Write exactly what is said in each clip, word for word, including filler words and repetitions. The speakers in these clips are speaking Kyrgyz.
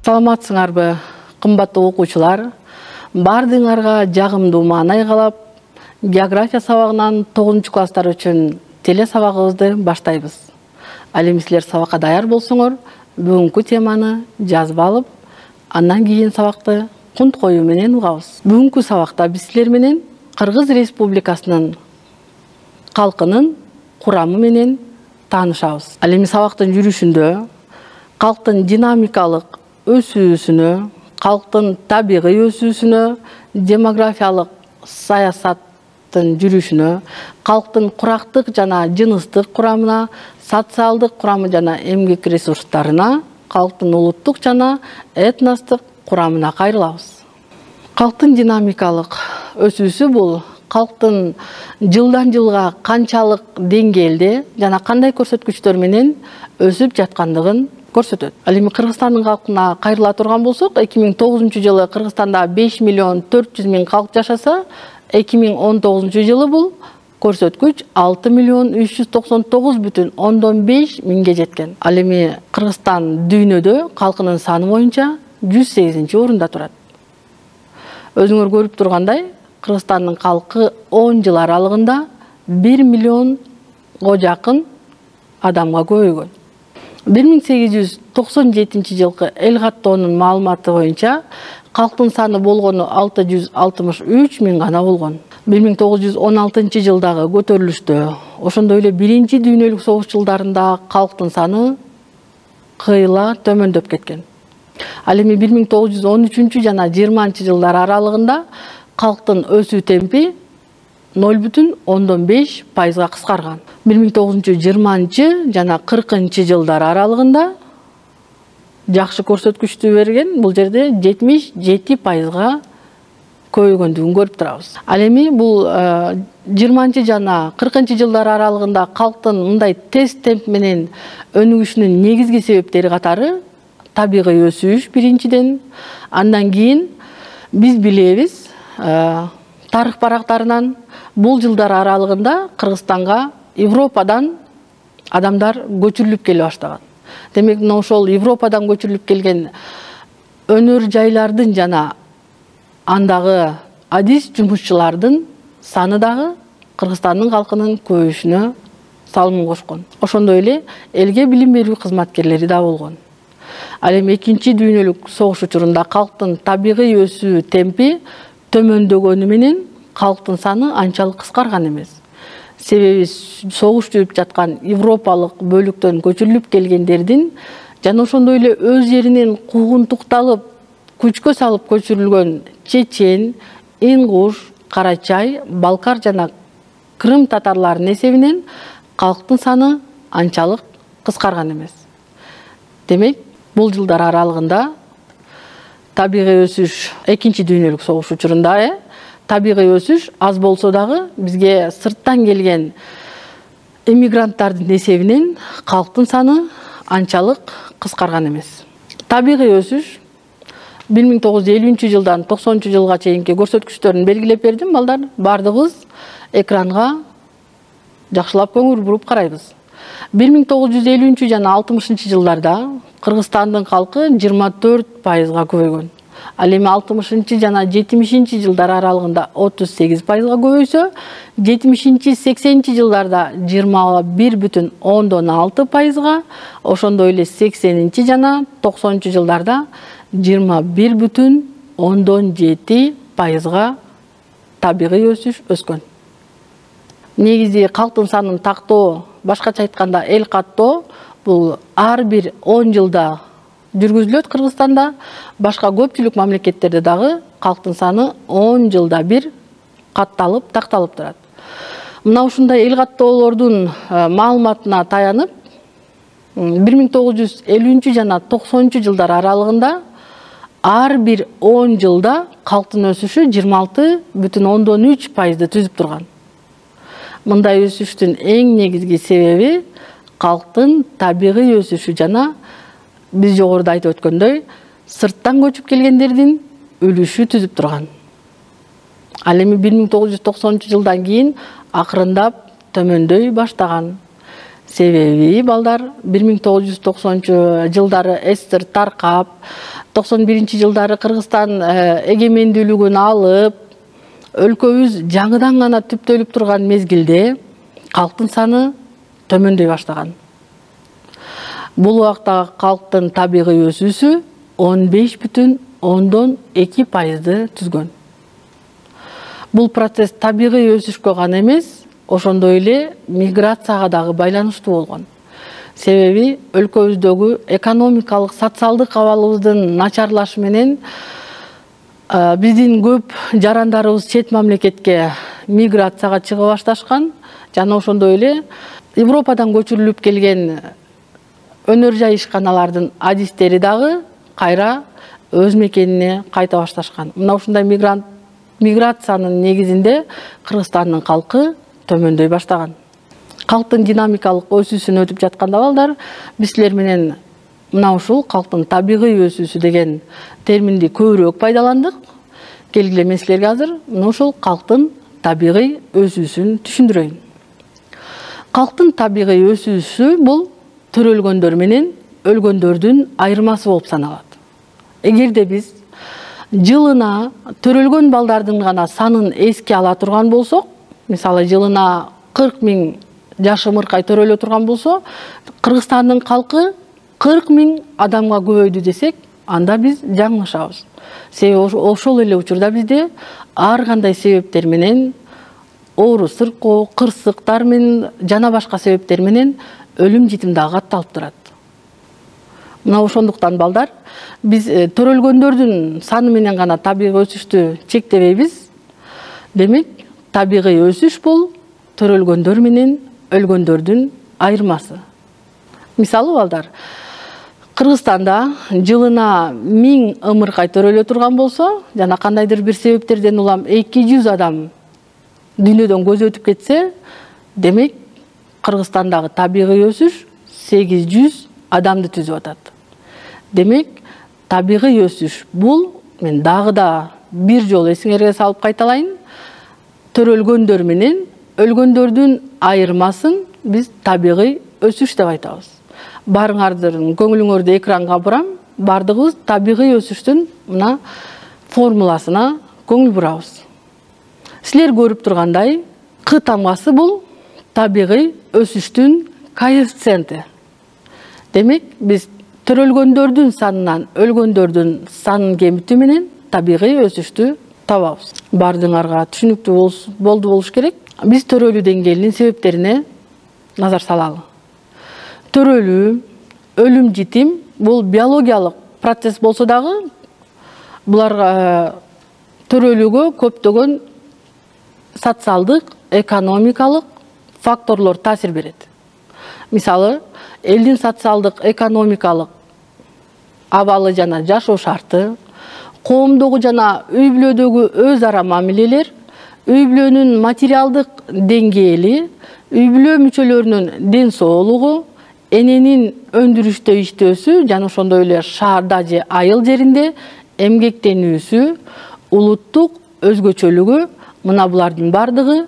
Саламатсыңарбы, кымбаттуу окуучулар? Бардыңарга жагымдуу маанай каалап, география сабагынан тогузунчу класстар үчүн теле сабагыбызды баштайбыз. Ал эми силер сабакка даяр болсоңор, бүгүнкү теманы жазып алып, андан кийин сабакты кунт коюу менен угабыз. Бүгүнкү сабакта биз силер менен Кыргыз Республикасынын калкынын курамы менен таанышабыз. Ал эми сабактын жүрүшүндө калктын динамикалык өсүүсүнө, калктын табигый өсүүсүнө, демографиялык саясаттын жүрүшүнө, калктын курактык жана жыныстык курамына, социалдык курамы жана эмгек ресурстарына, калктын улуттук жана этностук курамына кайрылабыз. Калктын динамикалык өсүүсү бул калктын жылдан жылга канчалык деңгээлде жана кандай көрсөткүчтөр менен өсүп жаткандыгын көрсөтөт. Ал эми Кыргызстандын калкына кайрыла турган болсок, эки миң тогузунчу жылы Кыргызстанда беш миллион төрт жүз миң калк жашаса, эки миң он тогузунчу жылы бул көрсөткүч алты миллион үч жүз токсон тогуз бүтүн ондон беш миңге жеткен. Ал эми Кыргызстан дүйнөдө калкынын саны боюнча жүз сегизинчи орунда турат. Өзүңөр көрүп тургандай, Кыргызстандын калкы он жыл аралыгында бир миллионго жакын адамга көбөйгөн. бир миң сегиз жүз токсон жетинчи жылкы эл каттоонун маалыматы боюнча калктын саны болгону алты жүз алтымыш үч миң гана болгон. бир миң тогуз жүз он алтынчы жылдагы көтөрүлүштө, ошондой эле биринчи дүйнөлүк согуш жылдарында калктын саны кыйла төмөндөп кеткен. Ал эми бир миң тогуз жүз он үчүнчү жана жыйырманчы жылдар аралыгында калктын өсүү темпи ноль бүтүн ондон беш пайызга кыскарган. бир миң тогуз жүз жыйырманчы жана кыркынчы жылдар аралыгында жакшы көрсөткүчтү берген, бул жерде жетимиш жети пайызга көбөйгөндүгүн көрүп турабыз. Ал эми бул жыйырманчы жана кыркынчы жылдар аралыгында калктын мындай тез темп менен өнүгүшүнүн негизги себептери катары табигый өсүш биринчиден, андан кийин биз билебиз тарых барактарынан бул жылдар аралыгында Кыргызстанга Европадан адамдар көчүрүлүп келе баштаган. Демек, мына ошол Европадан көчүрүлүп келген өнөр жайлардын жана андагы адис жумушчулардын саны дагы Кыргызстандын калкынын көбөйүшүнө салым кошкон. Ошондой эле элге билим берүү кызматкерлери да болгон. Ал эми экинчи дүйнөлүк согуш учурунда калктын табигый өсүү темпи төмөндөгөнү менен калктын саны анчалык кыскарган эмес. Себеби согуш жүрүп жаткан европалык бөлүктөн көчүрүлүп келгендердин жана ошондой эле өз жеринен куугунтукталып, күчкө салып көчүрүлгөн чечен, ингуш, карачай, балкар жана крым татарларынын эсебинен калктын саны анчалык кыскарган эмес. Демек, бул жылдар аралыгында табигый өсүш экинчи дүйнөлүк согуш учурунда э табигый өсүш аз болсо дагы бизге сырттан келген эмигранттардын эсебинен калктын саны анчалык кыскарган эмес. Табигый өсүш бир миң тогуз жүз элүүнчү жылдан токсонунчу жылга чейинки көрсөткүчтөрүн белгилеп бердим, балдар. Бардыгыбыз экранга жакшылап көңүл буруп карайбыз. бир миң тогуз жүз элүүнчү жана алтымышынчы жылдарда Кыргызстандын калкы жыйырма төрт пайызга көбөйгөн. Ал эми алтымышынчы жана жетимишинчи жылдар аралыгында отуз сегиз пайызга көбөйсө, жетимишинчи сексенинчи жылдарда жыйырма бир бүтүн ондон алты пайызга, ошондой эле сексенинчи жана токсонунчу жылдарда жыйырма бир бүтүн ондон жети пайызга табигый өсүш өскөн. Негизи калктын санын тактоо, башкача айтканда эл каттоо, бул ар бир он жылда жүргүзүлөт Кыргызстанда. Башка көпчүлүк мамлекеттерде дагы калктын саны он жылда бир катталып, такталып турат. Мына ушундай эл каттоолордун маалыматына таянып, бир миң тогуз жүз элүүнчү жана токсонунчу жылдар аралыгында ар бир он жылда калктын өсүшү жыйырма алты бүтүн ондон үч пайызды түзүп турган. Мындай өсүштүн эң негизги себеби калктын табигый өсүшү жана биз жогоруда айтып өткөндөй сырттан көчүп келгендердин үлүшү түзүп турган. Ал эми бир миң тогуз жүз токсонунчу жылдан кийин акырындап төмөндөй баштаган. Себеби балдар бир миң тогуз жүз токсонунчу жылдары СССР таркап, токсон биринчи жылдары Кыргызстан эгемендүүлүгүн алып, өлкөбүз жаңыдан гана түптөлүп турган мезгилде калктын саны төмөндөй баштаган. Бул убакта калктын табигый өсүүсү он беш бүтүн ондон эки пайызды түзгөн. Бул процесс табигый өсүшкө гана эмес, ошондой эле миграцияга дагы байланыштуу болгон. Себеби өлкөбүздөгү экономикалык, социалдык абалыбыздын начарлашы менен биздин көп жарандарыбыз чет мамлекетке миграцияга чыга башташкан жана ошондой эле Европадан көчүрүлүп келген өнөр жай ишканалардын адистери дагы кайра өз мекенине кайта башташкан. Мына ушундай мигрант миграциянын негизинде Кыргызстандын калкы төмөндөй баштаган. Калктын динамикалык өсүүсүн өтүп жатканда балдар, биз силер менен мына ушул калктын табигый өсүүсү деген терминди көбүрөөк пайдаландык. Келгиле, мен силерге азыр мына ушул калктын табигый өсүүсүн түшүндүрөйүн. Калктын табигый өсүүсү бул төрөлгөндөр менен өлгөндөрдүн айырмасы болуп саналат. Эгерде биз жылына төрөлгөн балдардын гана санын эске ала турган болсок, мисалы жылына кырк миң жашым ыркай төрөлө турган болсо, Кыргызстандын калкы кырк миң адамга көбөйдү десек, анда биз жаңылышабыз. Себеби ошол эле учурда бизде ар кандай себептер менен, оору сыркоо, кырсыктар менен жана башка себептер менен өлүм житим дагы катталып турат. Мына ошондуктан балдар, биз төрөлгөндөрдүн саны менен гана табигый өсүштү чектебейбиз. Демек, табигый өсүш бул төрөлгөндөр менен өлгөндөрдүн айырмасы. Мисалы балдар, Кыргызстанда жылына миң ымыркай төрөлө турган болсо, жана кандайдыр бир себептерден улам эки жүз адам дүйнөдөн көз өтүп кетсе, демек Кыргызстандагы табигый өсүш сегиз жүз адамды түзүп атат. Демек, табигый өсүш бул, мен дагы да бир жолу эсиңерге салып кайталайын, төрөлгөндөр менен өлгөндөрдүн айырмасын биз табигый өсүш деп айтабыз. Барыңардын көңүлүңөрдү экранга бурам, бардыгыбыз табигый өсүштүн мына формуласына көңүл бурабыз. Силер көрүп тургандай, К тамгасы бул табигый өсүштүн коэффициенти. Демек, биз төрөлгөндөрдүн санынан өлгөндөрдүн санын кемитүү менен табигый өсүштү табабыз. Бардыңарга түшүнүктүү болду болуш керек. Биз төрөлүү деңгээлинин себептерине назар салалы. Төрөлүү, өлүм житим бул биологиялык процесс болсо дагы, буларга төрөлүүгө көптөгөн социалдык, экономикалык факторлор таасир берет. Мисалы, элдин социалдык, экономикалык абалы жана жашоо шарты, коомдогу жана үй бүлөдөгү өз ара мамилелер, үй бүлөнүн материалдык деңгээли, үй бүлө мүчөлөрүнүн ден соолугу, эненин өндүрүштө иштөөсү жана ошондой эле шаарда же айыл жеринде эмгектенүүсү, улуттук өзгөчөлүгү, мына булардын бардыгы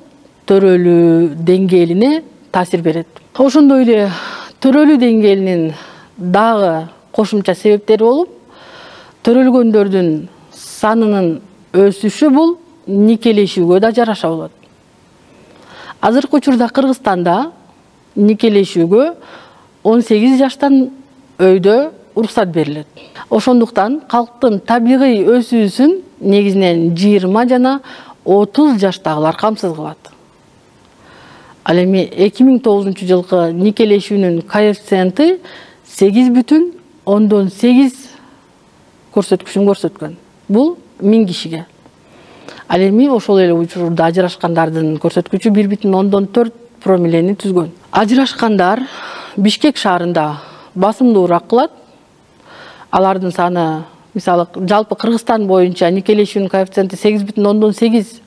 төрөлүү деңгээлине таасир берет. Ошондой эле төрөлүү деңгээлинин дагы кошумча себептери болуп, төрөлгөндөрдүн санынын өсүшү бул никелешүүгө да жараша болот. Азыркы учурда Кыргызстанда никелешүүгө он сегиз жаштан өйдө уруксат берилет. Ошондуктан калктын табигый өсүүсүн негизинен жыйырма жана отуз жаштагылар камсыз кылат. Ал эми эки миң тогузунчу жылкы никелешүүнүн коэффициенти сегиз бүтүн ондон сегиз көрсөткүчүн көрсөткөн. Бул миң кишиге. Ал эми ошол эле учурда ажырашкандардын көрсөткүчү бир бүтүн ондон төрт промиллени түзгөн. Ажырашкандар Бишкек шаарында басымдуураак кылат. Алардын саны, мисалы, жалпы Кыргызстан боюнча никелешүүнүн коэффициенти сегиз бүтүн ондон сегиз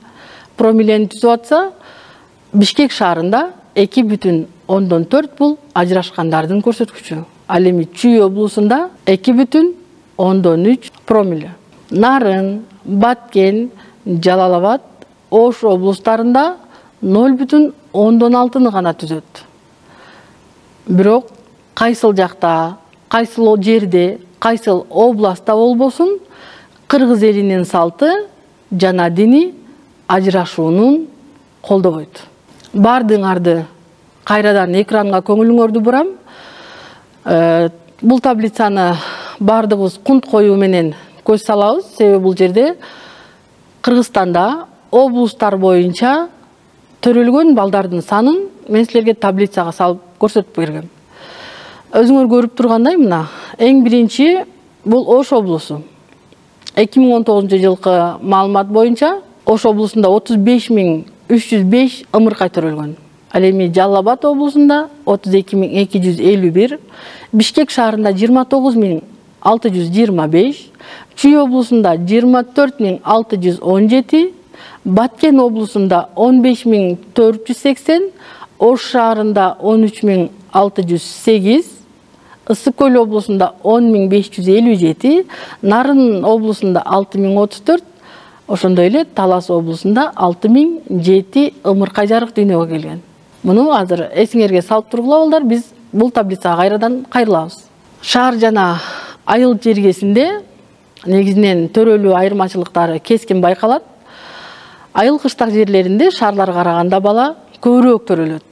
промиллени түзүп атса, Бишкек шаарында эки бүтүн ондон төрт бул ажырашкандардын көрсөткүчү. Ал эми Чүй облусунда эки бүтүн ондон үч промилле. Нарын, Баткен, Жалал Абад, Ош облустарында ноль бүтүн ондон алтыны гана түзөт. Бирок кайсыл жакта, кайсыл жерде, кайсыл областта болбосун, кыргыз элинин салты жана дини ажырашуунун колдобойт. Бардыгыңарды кайрадан экранга көңүлүңөрдү бурам. Бул таблицаны бардыгыбыз кунт коюу менен көз салабыз. Себеби бул жерде Кыргызстанда облустар боюнча төрөлгөн балдардын санын мен силерге таблицага салып көрсөтүп бергем. Өзүңөр көрүп тургандай, мына эң биринчи бул Ош облусу. эки миң он тогузунчу жылкы маалымат боюнча Ош облусунда отуз беш миң үч жүз беш ымыркай төрөлгөн. Ал эми Жалал Абад облусунда отуз эки миң эки жүз элүү бир, Бишкек шаарында жыйырма тогуз миң алты жүз жыйырма беш, Чүй облусунда жыйырма төрт миң алты жүз он жети, Баткен облусунда он беш миң төрт жүз сексен, Ош шаарында он үч миң алты жүз сегиз, Ысык көл облусунда он миң беш жүз элүү жети, Нарын облусунда алты миң отуз төрт, ошондой эле Талас облусунда алты миң жети ымыркай жарык дүйнөгө келген. Муну азыр эсиңерге салып тургула балдар, биз бул таблицага кайрадан кайрылабыз. Шаар жана айыл жергесинде негизинен төрөлүү айырмачылыктары кескин байкалат. Айыл кыштак жерлеринде шаарларга караганда бала көбүрөөк төрөлөт.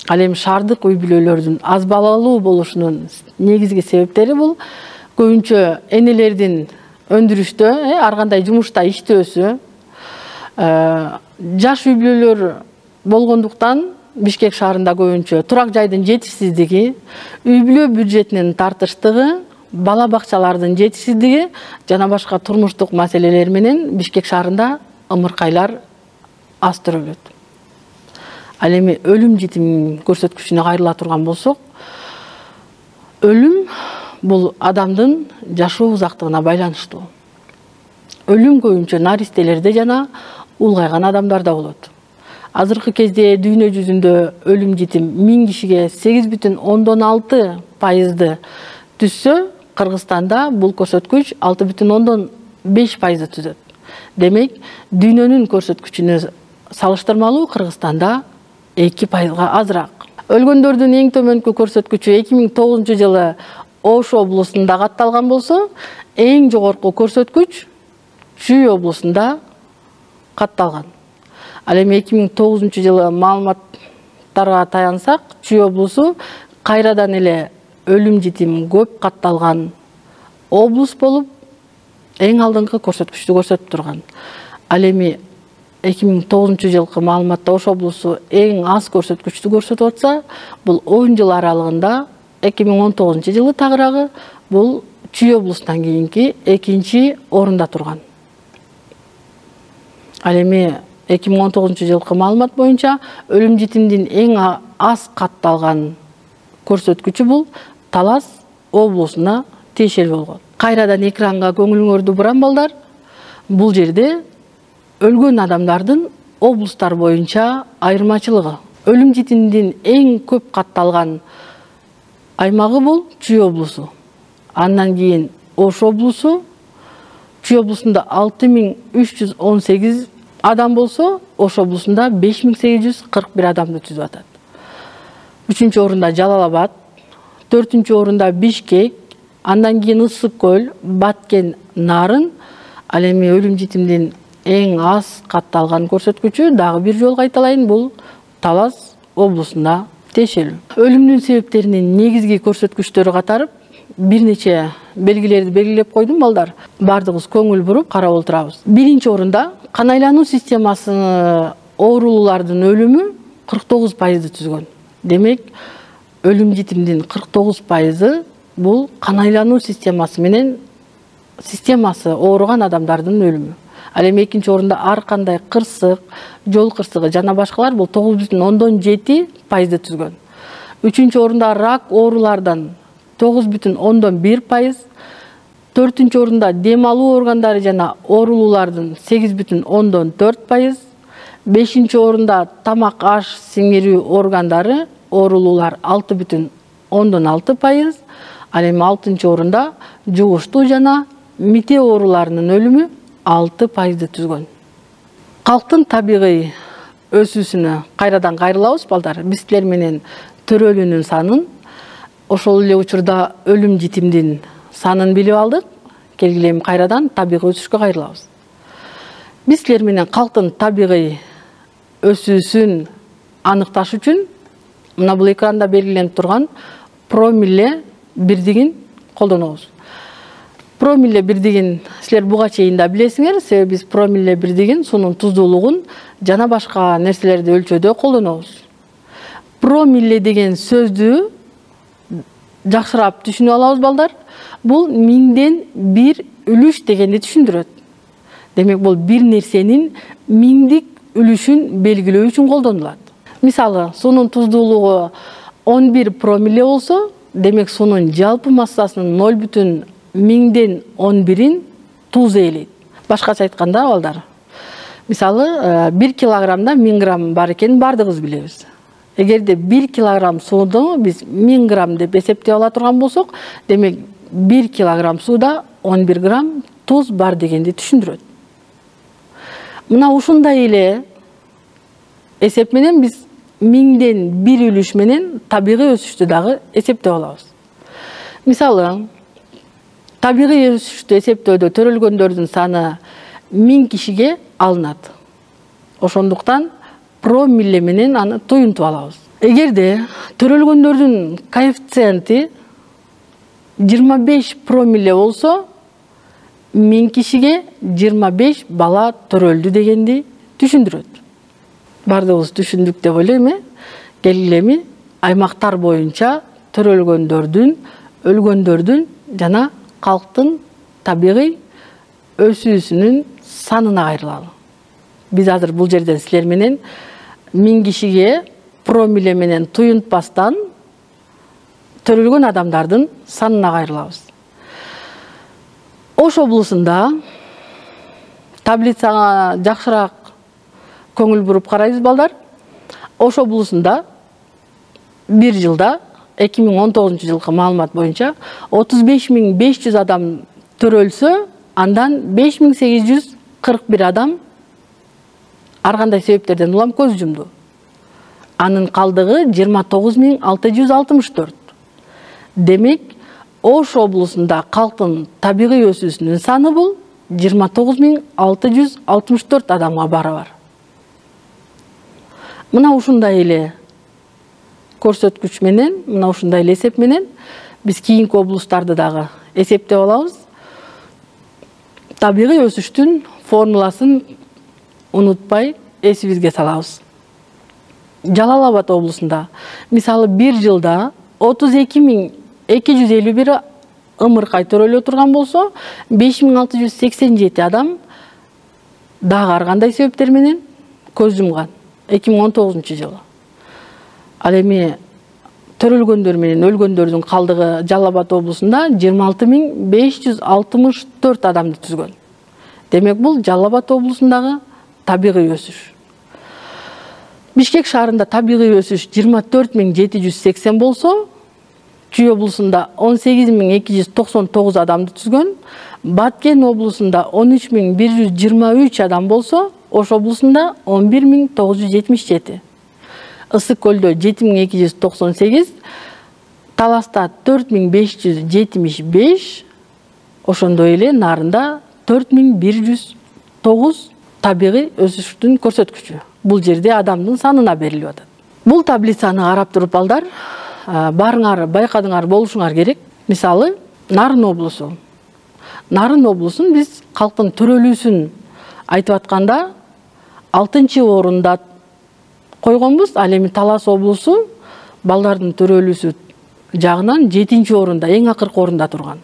Ал эми шаардык үй бүлөлөрдүн аз балалуу болушунун негизги себептери бул көбүнчө энелердин өндүрүштө, ар кандай жумушта иштөөсү, жаш үй бүлөлөр болгондуктан Бишкек шаарында көбүнчө турак жайдын жетишсиздиги, үй бүлө бюджетинин тартыштыгы, бала бакчалардын жетишсиздиги жана башка турмуштук маселелер менен Бишкек шаарында ымыркайлар аз төрөлөт. Ал эми өлүм житим көрсөткүчүнө кайрыла турган болсок, өлүм бул адамдын жашоо узактыгына байланыштуу. Өлүм көбүнчө наристелерде жана улгайган адамдарда болот. Азыркы кезде дүйнө жүзүндө өлүм житим миң кишиге сегиз бүтүн ондон алты пайызды түзсө, Кыргызстанда бул көрсөткүч алты бүтүн ондон беш пайызды түзөт. Демек, дүйнөнүн көрсөткүчүнө салыштырмалуу Кыргызстанда эки пайызга азыраак. Өлгөндөрдүн эң төмөнкү көрсөткүчү эки миң тогузунчу жылы Ош облусунда катталган болсо, эң жогорку көрсөткүч Чүй облусунда катталган. Ал эми эки миң тогузунчу жылы маалыматтарга таянсак, Чүй облусу кайрадан эле өлүм житим көп катталган облус болуп, эң алдыңкы көрсөткүчтү көрсөтүп турган. Ал эми эки миң тогузунчу жылкы маалыматта Ош облусу эң аз көрсөткүчтү көрсөтүп атса, бул он жыл аралыгында эки миң он тогузунчу жылы тагыраагы бул Чүй облусунан кийинки экинчи орунда турган. Ал эми эки миң он тогузунчу жылкы маалымат боюнча өлүм житимдин эң аз катталган көрсөткүчү бул Талас облусуна тиешелүү болгон. Кайрадан экранга көңүлүңөрдү бурам балдар. Бул жерде өлгөн адамдардын облустар боюнча айырмачылыгы. Өлүм житимдин эң көп катталган аймагы бул Чүй облусу. Андан кийин Ош облусу. Чүй облусунда алты миң үч жүз он сегиз адам болсо, Ош облусунда беш миң сегиз жүз кырк бир адамды түзүп атат. Үчүнчү орунда Жалал Абад, төртүнчү орунда Бишкек, андан кийин Ысык көл, Баткен, Нарын. Ал эми өлүм житимдин эң аз катталган көрсөткүчү дагы бир жолу кайталайын, бул Талас облусунда тиешелүү. Өлүмдүн себептеринин негизги көрсөткүчтөрү катары бир нече белгилерди белгилеп койдум балдар. Бардыгыбыз көңүл буруп карап отурабыз. Биринчи орунда кан айлануу системасы оорулуулардын өлүмү кырк тогуз пайызды түзгөн. Демек, өлүм житимдин кырк тогуз пайызы бул кан айлануу системасы менен системасы ооруган адамдардын өлүмү. Ал эми экинчи орунда ар кандай кырсык, жол кырсыгы жана башкалар бул тогуз бүтүн ондон жети пайызды түзгөн. Үчүнчү орунда рак оорулардан тогуз бүтүн ондон бир пайыз, төртүнчү орунда дем алуу органдары жана оорулуулардын сегиз бүтүн ондон төрт пайыз, бешинчи орунда тамак аш сиңирүү органдары оорулуулар алты бүтүн ондон алты пайыз, ал эми алтынчы орунда жугуштуу жана мите ооруларынын өлүмү алты пайызды түзгөн. Калктын табигый өсүүсүнө кайрадан кайрылабыз балдар. Биз силер менен төрөлүүнүн санын ошол эле учурда өлүм житимдин санын билип алдык. Келгиле эми кайрадан табигый өсүшкө кайрылабыз. Биз силер менен калктын табигый өсүүсүн аныкташ үчүн мына бул экранда белгиленип турган промилле бирдигин колдонобуз. Промилле бирдигин силер буга чейин да билесиңер, себеби биз промилле бирдигин суунун туздуулугун жана башка нерселерди өлчөөдө колдонобуз. Промилле деген сөздү жакшыраак түшүнүп алабыз балдар. Бул миңден бир үлүш дегенди түшүндүрөт. Демек бул бир нерсенин миңдик үлүшүн белгилөө үчүн колдонулат. Мисалы, суунун туздуулугу он бир промилле болсо, демек суунун жалпы массасынын ноль бүтүн миңден он бирин туз ээлейт. Башкача айтканда балдар, мисалы, бир килограммда миң грамм бар экенин бардыгыбыз билебиз. Эгерде бир килограмм сууну биз миң грамм деп эсептеп ала турган болсок, демек бир килограмм сууда он бир грамм туз бар дегенди түшүндүрөт. Мына ушундай эле эсеп менен биз миңден бир үлүш менен табигый өсүштү дагы эсептеп алабыз. Мисалы, табигый өсүштү эсептөөдө төрөлгөндөрдүн саны миң кишиге алынат. Ошондуктан промилле менен аны туюнтуп алабыз. Эгерде төрөлгөндөрдүн коэффициенти жыйырма беш промилле болсо, миң кишиге жыйырма беш бала төрөлдү дегенди түшүндүрөт. Бардыгыбыз түшүндүк деп ойлойм, э? Келгиле аймактар боюнча төрөлгөндөрдүн, өлгөндөрдүн жана калктын табигый өсүүсүнүн санына кайрылалы. Биз азыр бул жерден силер менен миң кишиге промилле менен туюнтпастан төрөлгөн адамдардын санына кайрылабыз. Ош облусунда таблицага жакшыраак көңүл буруп карайбыз балдар. Ош облусунда бир жылда эки миң он тогузунчу жылкы маалымат боюнча отуз беш миң беш жүз адам төрөлсө, андан беш миң сегиз жүз кырк бир адам ар кандай себептерден улам көз жумду. Анын калдыгы жыйырма тогуз миң алты жүз алтымыш төрт. Демек, Ош облусунда калктын табигый өсүүсүнүн саны бул жыйырма тогуз миң алты жүз алтымыш төрт адамга барабар. Мына ушундай эле көрсөткүч менен, мына ушундай эле эсеп менен биз кийинки облустарды дагы эсептеп алабыз. Табигый өсүштүн формуласын унутпай эсибизге салабыз. Жалал Абад облусунда мисалы бир жылда отуз эки миң эки жүз элүү бир ымыркай төрөлө турган болсо, беш миң алты жүз сексен жети адам дагы ар кандай себептер менен көз жумган эки миң он тогузунчу жылы. Ал эми төрөлгөндөр менен өлгөндөрдүн калдыгы Жалал Абад облусунда жыйырма алты миң беш жүз алтымыш төрт адамды түзгөн. Демек бул Жалал Абад облусундагы табигый өсүш. Бишкек шаарында табигый өсүш жыйырма төрт миң жети жүз сексен болсо, Чүй облусунда он сегиз миң эки жүз токсон тогуз адамды түзгөн. Баткен облусунда он үч миң бир жүз жыйырма үч адам болсо, Ош облусунда он бир миң тогуз жүз жетимиш жети. Ысык көлдө жети миң эки жүз токсон сегиз, Таласта төрт миң беш жүз жетимиш беш, ошондой эле Нарында төрт миң бир жүз тогуз табигый өсүштүн көрсөткүчү. Бул жерде адамдын санына берилип атат. Бул таблицаны карап туруп балдар, барыңар байкадыңар болушуңар керек. Мисалы, Нарын облусу. Нарын облусун биз калктын төрөлүүсүн айтып атканда алтынчы орунда койгонбуз. Ал эми Талас облусу балдардын төрөлүүсү жагынан жетинчи орунда, эң акыркы орунда турган.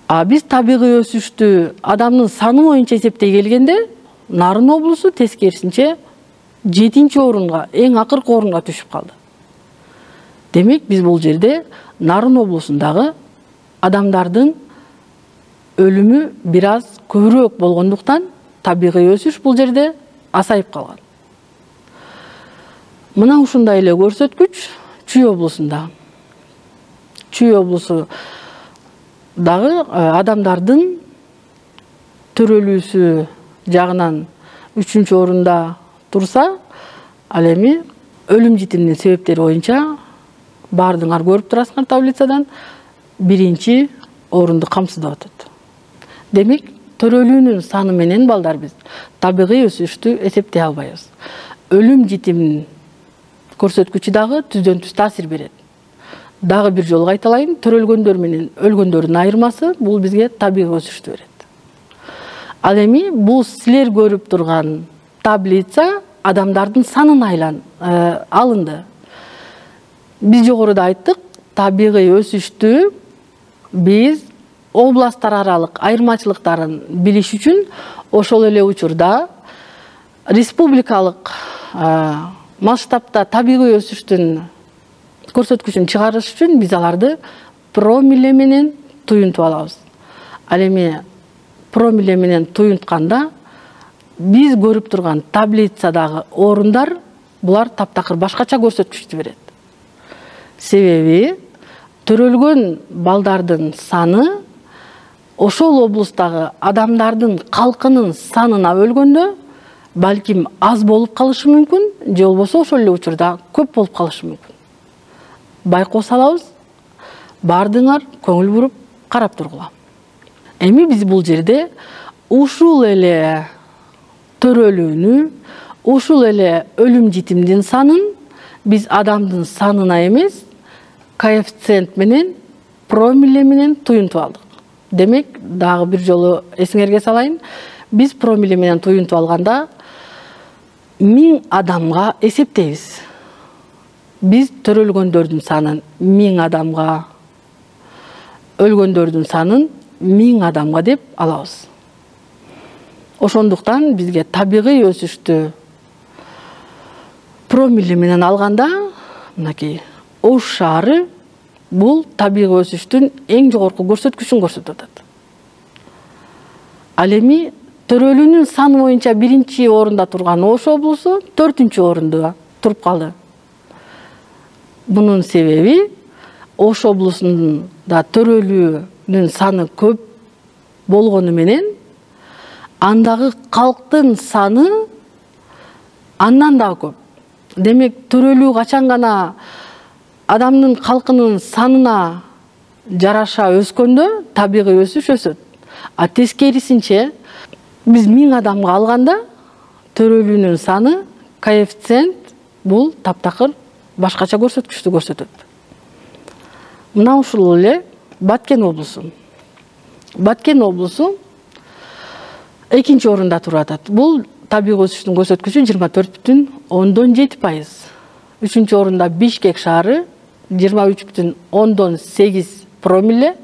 А биз табигый өсүштү адамдын саны боюнча эсептей келгенде, Нарын облусу тескерисинче жетинчи орунга, эң акыркы орунга түшүп калды. Демек, биз бул жерде Нарын облусундагы адамдардын өлүмү бир аз көбүрөөк болгондуктан табигый өсүш бул жерде асайып калган. Мына ушундай эле көрсөткүч Чүй облусунда. Чүй облусу дагы адамдардын төрөлүүсү жагынан үчүнчү орунда турса, ал эми өлүм житимдин себептери боюнча баардыгыңар көрүп турасыңар таблицадан, биринчи орунду камсыздап атат. Демек, төрөлүүнүн саны менен балдар биз табигый өсүштү эсептей албайбыз. Өлүм житим көрсөткүчү дагы түздөн түз таасир берет. Дагы бир жолу кайталайын, төрөлгөндөр менен өлгөндөрдүн айырмасы бул бизге табигый өсүштү берет. Ал эми бул силер көрүп турган таблица адамдардын санын айлан алынды. Биз жогоруда айттык, табигый өсүштү биз областтар аралык айырмачылыктарын билиш үчүн ошол эле учурда республикалык масштабта табигый өсүштүн көрсөткүчүн чыгарыш үчүн биз аларды промилле менен туюнтуп алабыз. Ал эми промилле менен туюнтканда биз көрүп турган таблицадагы орундар булар таптакыр башкача көрсөткүчтү берет. Себеби төрөлгөн балдардын саны ошол облустагы адамдардын калкынын санына бөлгөндө балким аз болуп калышы мүмкүн, же болбосо ошол эле учурда көп болуп калышы мүмкүн. Байкоо салабыз, баардыгыңар көңүл буруп карап тургула. Эми биз бул жерде ушул эле төрөлүүнү, ушул эле өлүм житимдин санын биз адамдын санына эмес, коэффициент менен, промилле менен туюнтуп алдык. Демек, дагы бир жолу эсиңерге салайын, биз промилле менен туюнтуп алганда миң адамга эсептейбиз. Биз төрөлгөндөрдүн санын миң адамга, өлгөндөрдүн санын миң адамга деп алабыз. Ошондуктан бизге табигый өсүштү промилле менен алганда, мынакей Ош шаары бул табигый өсүштүн эң жогорку көрсөткүчүн көрсөтүп атат. Ал эми төрөлүүнүн саны боюнча биринчи орунда турган Ош облусу төртүнчү орунда туруп калды. Бунун себеби Ош облусунда төрөлүүнүн саны көп болгону менен андагы калктын саны андан да көп. Демек, төрөлүү качан гана адамдын калкынын санына жараша өскөндө табигый өсүш өсөт. А тескерисинче биз миң адамга алганда төрөлүүнүн саны, коэффициент бул таптакыр башкача көрсөткүчтү көрсөтөт. Мына ушул эле Баткен облусу. Баткен облусу экинчи орунда туруп атат. Бул табигый өсүштүн көрсөткүчү жыйырма төрт бүтүн ондон жети пайыз. Үчүнчү орунда Бишкек шаары жыйырма үч бүтүн ондон сегиз промилле.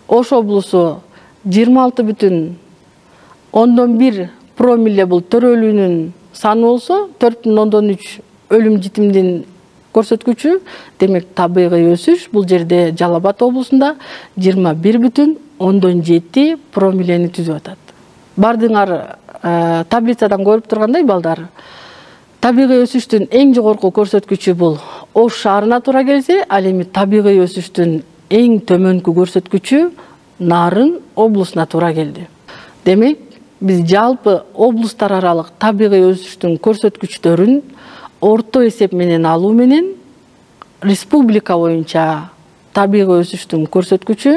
Ош облусу жыйырма алты бүтүн ондон бир промилле бул төрөлүүнүн саны болсо, төрт бүтүн ондон үч өлүм житимдин көрсөткүчү. Демек, табигый өсүш бул жерде Жалал Абад облусунда жыйырма бир бүтүн ондон жети промиллени түзүп атат. Бардыңар таблицадан көрүп тургандай балдар, табигый өсүштүн эң жогорку көрсөткүчү бул Ош шаарына туура келсе, ал эми табигый өсүштүн эң төмөнкү көрсөткүчү Нарын облусуна туура келди. Демек, биз жалпы облустар аралык табигый өсүштүн көрсөткүчтөрүн орто эсеп менен алуу менен республика боюнча табигый өсүштүн көрсөткүчү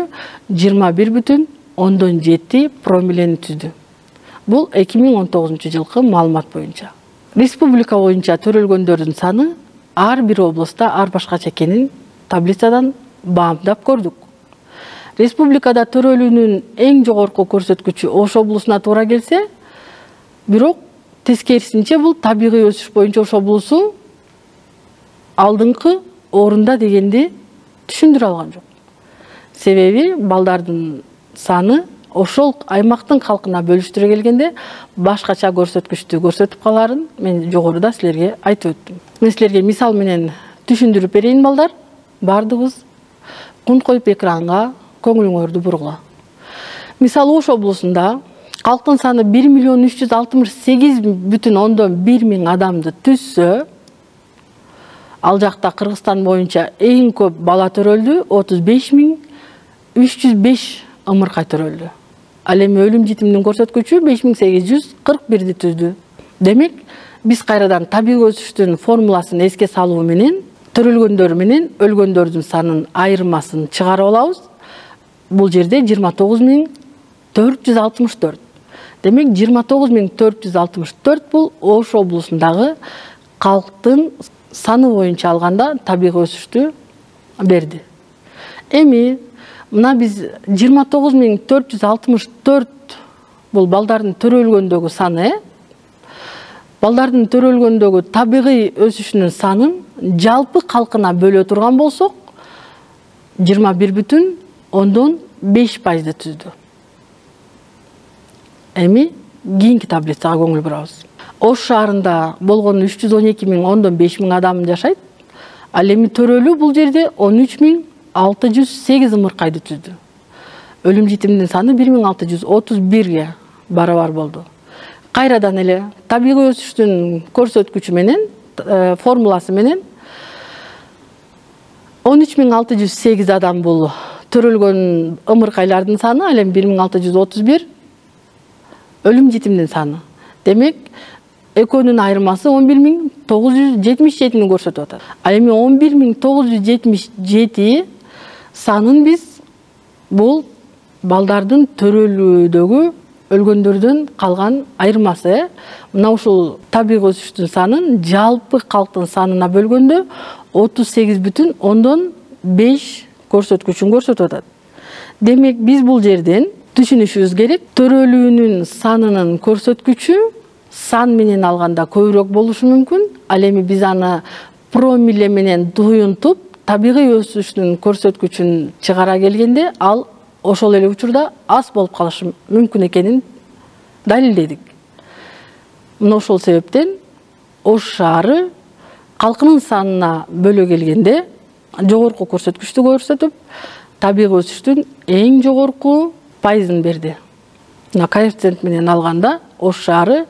жыйырма бир бүтүн ондон жети промиллени түздү. Бул эки миң он тогузунчу жылкы маалымат боюнча. Республика боюнча төрөлгөндөрдүн саны ар бир облуста ар башкача экенин таблицадан баамдап көрдүк. Республикада төрөлүүнүн эң жогорку көрсөткүчү Ош облусуна туура келсе, бирок тескерисинче бул табигый өсүш боюнча Ош облусу алдыңкы орунда дегенди түшүндүрө алган жок. Себеби балдардын саны ошол аймактын калкына бөлүштүрө келгенде башкача көрсөткүчтү көрсөтүп каларын мен жогоруда силерге айтып өттүм. Мен силерге мисал менен түшүндүрүп берейин балдар. Бардыгыбыз кунт коюп экранга көңүлүңөрдү бургула. Мисалы Ош облусунда калктын саны бир миллион үч жүз алтымыш сегиз бүтүн ондон бир миң адамды түзсө, ал жакта Кыргызстан боюнча эң көп бала төрөлдү, отуз беш миң үч жүз беш ымыркай төрөлдү. Ал эми өлүм житимдин көрсөткүчү беш миң сегиз жүз кырк бирди түздү. Демек, биз кайрадан табигый өсүштүн формуласын эске салуу менен төрөлгөндөр менен өлгөндөрдүн санын айырмасын чыгарып алабыз. Бул жерде жыйырма тогуз миң төрт жүз алтымыш төрт. Демек жыйырма тогуз миң төрт жүз алтымыш төрт бул Ош облусундагы калктын саны боюнча алганда табигый өсүштү берди. Эми мына биз жыйырма тогуз миң төрт жүз алтымыш төрт бул балдардын төрөлгөндөгү саны, балдардын төрөлгөндөгү табигый өсүшүнүн санын жалпы калкына бөлө турган болсок, жыйырма бир бүтүн ондон беш пайызды түздү. Эми кийинки таблицага көңүл бурабыз. Ош шаарында болгон үч жүз он эки миң ондон беш миң адам жашайт. Ал эми төрөлүү бул жерде он үч миң алты жүз сегиз ымыркайды түздү. Өлүм житимдин саны бир миң алты жүз отуз бирге барабар болду. Кайрадан эле табигый өсүштүн көрсөткүчү менен, формуласы менен он үч миң алты жүз сегиз адам бул төрөлгөн ымыркайлардын саны, ал эми бир миң алты жүз отуз бир өлүм житимдин саны. Демек, экөөнүн айырмасы он бир миң тогуз жүз жетимиш жетини көрсөтүп атат. Ал эми он бир миң тогуз жүз жетимиш жети санын биз бул балдардын төрөлүүдөгү өлгөндөрдөн калган айырмасы. Мына ушул табигый өсүштүн санын жалпы калктын санына бөлгөндө отуз сегиз бүтүн ондон беш көрсөткүчүн көрсөтүп атат. Демек, биз бул жерден түшүнүшүбүз керек, төрөлүүнүн санынын көрсөткүчү сан менен алганда көбүрөөк болушу мүмкүн. Ал эми биз аны промилле менен туюнтуп, табигый өсүштүн көрсөткүчүн чыгара келгенде, ал ошол эле учурда аз болуп калышы мүмкүн экенин далилдедик. Мына ошол себептен Ош шаары калкынын санына бөлө келгенде жогорку көрсөткүчтү көрсөтүп, табигый өсүштүн эң жогорку пайызын берди. Мына коэффициент менен алганда Ош шаары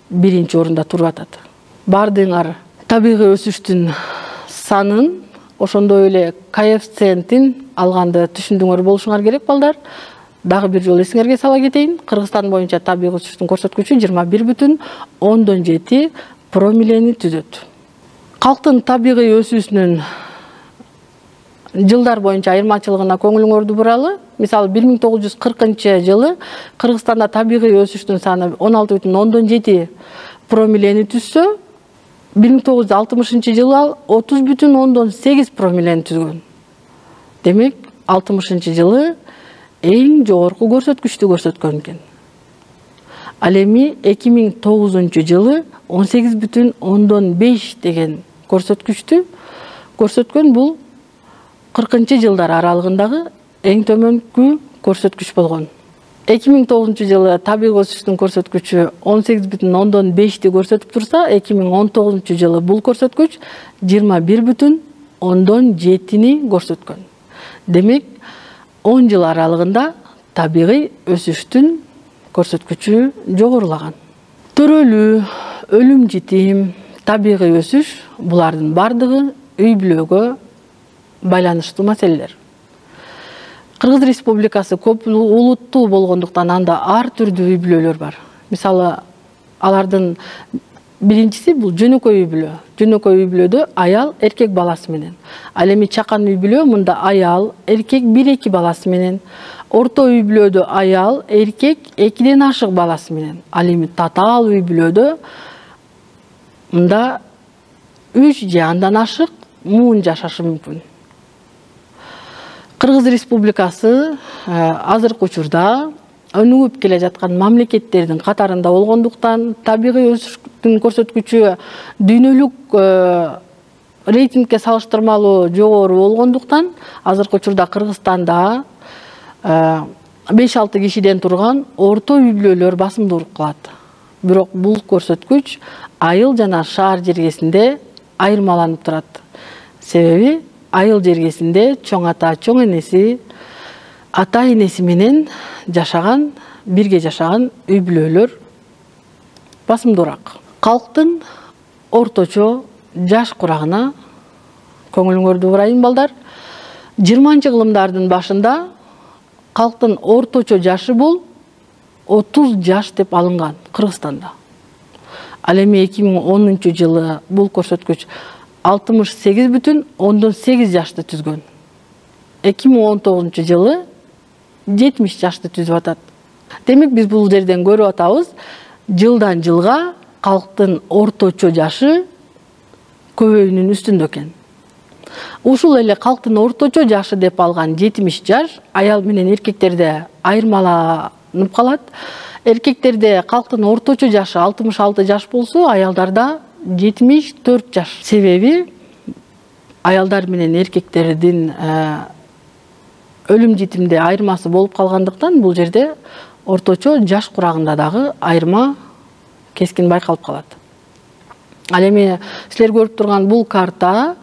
биринчи орунда туруп атат. Бардыңар табигый өсүштүн санын, ошондой эле коэффициентин алганды түшүндүңөр болушуңар керек, балдар. Дагы бир жолу эсиңерге сала кетейин. Кыргызстан боюнча табигый өсүштүн көрсөткүчү жыйырма бир бүтүн ондон жети промиллени түзөт. Калктын табигый өсүүсүнүн жылдар боюнча айырмачылыгына көңүлүңөрдү буралы. Мисалы, бир миң тогуз жүз кыркынчы жылы Кыргызстанда табигый өсүштүн саны он алты бүтүн ондон жети промиллени түзсө, бир миң тогуз жүз алтымышынчы жылы ал отуз бүтүн ондон сегиз промиллени түзгөн. Демек, алтымышынчы жылы эң жогорку көрсөткүчтү көрсөткөн экен. Ал эми эки миң тогузунчу жылы он сегиз бүтүн ондон беш деген көрсөткүчтү көрсөткөн. Бул кыркынчы жылдар аралыгындагы эң төмөнкү көрсөткүч болгон. эки миң тогузунчу жылы табигый өсүштүн көрсөткүчү он сегиз бүтүн ондон бешти көрсөтүп турса, эки миң он тогузунчу жылы бул көрсөткүч жыйырма бир бүтүн ондон жетини көрсөткөн. Демек, он жыл аралыгында табигый өсүштүн көрсөткүчү жогорулаган. Төрөлүү, өлүм житим, табигый өсүш булардын бардыгы үй бүлөгө байланыштуу маселелер. Кыргыз Республикасы көп улуттуу болгондуктан анда ар түрдүү үй бүлөлөр бар. Мисалы, алардын биринчиси бул жөнөкөй үй бүлө. Жөнөкөй үй бүлөдө аял эркек баласы менен. Ал эми чакан үй бүлө мында аял эркек бир эки баласы менен. Орто үй бүлөдө аял эркек экиден ашык баласы менен. Ал эми татаал үй бүлөдө мында үч же андан ашык муун жашашы мүмкүн. Кыргыз Республикасы азыркы учурда өнүгүп келе жаткан мамлекеттердин катарында болгондуктан, табигый өсүштүн көрсөткүчү дүйнөлүк рейтингке салыштырмалуу жогору болгондуктан, азыркы учурда Кыргызстанда беш алты кишиден турган орто үй бүлөлөр басымдуулук кылат. Бирок бул көрсөткүч айыл жана шаар жергесинде айырмаланып турат. Себеби айыл жергесинде чоң ата, чоң энеси, ата энеси менен жашаган, бирге жашаган үй бүлөлөр басымдуураак. Калктын орточо жаш курагына көңүлүңөрдү бурайын, балдар. жыйырманчы кылымдардын башында калктын орточо жашы бул отуз жаш деп алынган Кыргызстанда. Ал эми эки миң онунчу жылы бул көрсөткүч алтымыш сегиз бүтүн ондон сегиз жашты түзгөн. эки миң он тогузунчу жылы жетимиш жашты түзүп атат. Демек биз бул жерден көрүп атабыз, жылдан жылга калктын орточо жашы көбөйүүнүн үстүндө экен. Ушул эле калктын орточо жашы деп алган жетимиш жаш аял менен эркектерде айырмаланып калат. Эркектерде калктын орточо жашы алтымыш алты жаш болсо, аялдарда жетимиш төрт жаш. Себеби аялдар менен эркектердин өлүм житимде айырмасы болуп калгандыктан бул жерде орточо жаш курагында дагы айырма кескин байкалып калат. Ал эми силер көрүп турган бул карта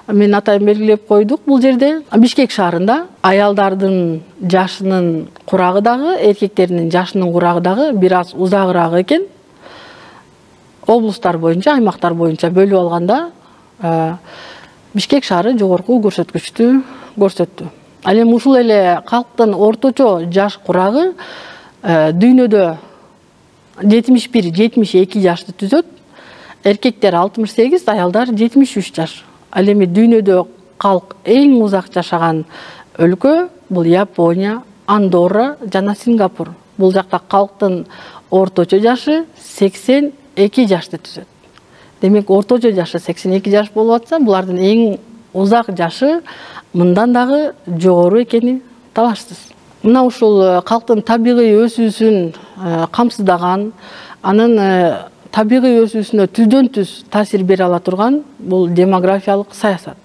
мен атайын белгилеп койдук. Бул жерде Бишкек шаарында аялдардын жашынын курагы дагы, эркектердин жашынын курагы дагы бир аз узагыраак экен. Облустар боюнча, аймактар боюнча бөлүп алганда Бишкек шаары жогорку көрсөткүчтү көрсөттү. Ал эми ушул эле калктын орточо жаш курагы дүйнөдө жетимиш бир жетимиш эки жашты түзөт. Эркектер алтымыш сегиз, аялдар жетимиш үч жаш. Ал эми дүйнөдө калк эң узак жашаган өлкө бул Япония, Андорра жана Сингапур. Бул жакта калктын орточо жашы сексен эки жашты түзөт. Демек орточо жашы сексен эки жаш болуп атса, булардын эң узак жашы мындан дагы жогору экени талашсыз. Мына ушул калктын табигый өсүүсүн камсыздаган, анын табигый өсүүсүнө түздөн түз таасир бере ала турган бул демографиялык саясат.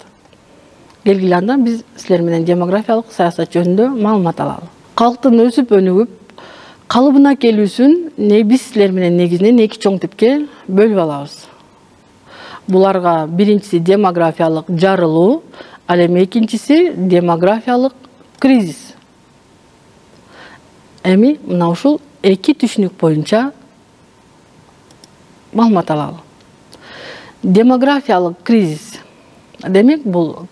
Келгиле андан биз силер менен демографиялык саясат жөнүндө маалымат алалы. Калктын өсүп өнүгүп калыбына келүүсүн не биз силер менен негизинен эки чоң типке бөлүп алабыз. Буларга биринчиси демографиялык жарылуу, ал эми экинчиси демографиялык кризис. Эми мына ушул эки түшүнүк боюнча маалымат алалы. Демографиялык кризис. Демек бул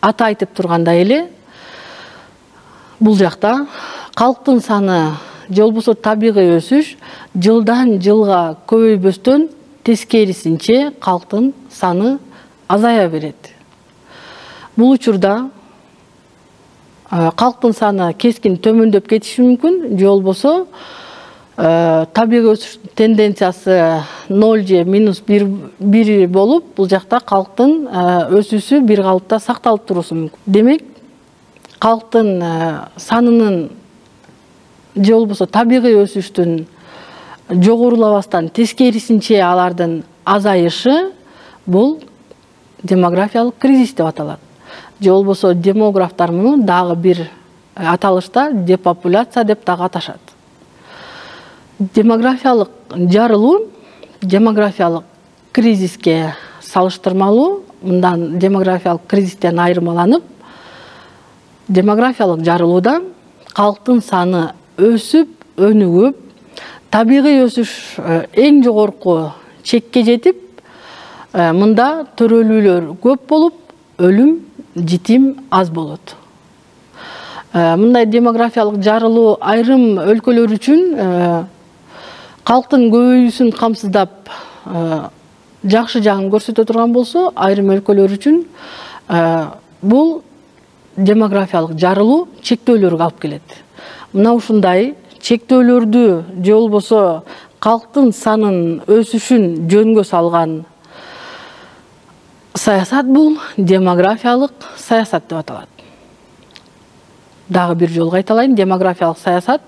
аты айтып тургандай эле, бул жакта калктын саны же болбосо табигый өсүш жылдан жылга көбөйбөстөн тескерисинче калктын саны азая берет. Бул учурда калктын саны кескин төмөндөп кетиши мүмкүн, же болбосо табигый өсүш тенденциясы ноль же минус бир болуп, бул жакта калктын өсүүсү бир калыпта сакталып турусу мүмкүн. Демек, калктын санынын же болбосо табигый өсүштүн жогорулабастан тескерисинче алардын азайышы бул демографиялык кризис деп аталат. Же болбосо демографтар муну дагы бир аталышта депопуляция деп дагы аташат. Демографиялык жарылуу демографиялык кризиске салыштырмалуу, мындан демографиялык кризистен айырмаланып, демографиялык жарылууда калктын саны өсүп, өнүгүп, табигый өсүш эң жогорку чекке жетип, мында төрөлүүлөр көп болуп, өлүм, житим аз болот. Мындай демографиялык жарылуу айрым өлкөлөр үчүн калктын көбөйүүсүн камсыздап жакшы жагын көрсөтө турган болсо, айрым өлкөлөр үчүн бул демографиялык жарылуу чектөөлөргө алып келет. Мына ушундай чектөөлөрдү же болбосо калктын санын өсүшүн жөнгө салган саясат бул демографиялык саясат деп аталат. Дагы бир жолу кайталайын, демографиялык саясат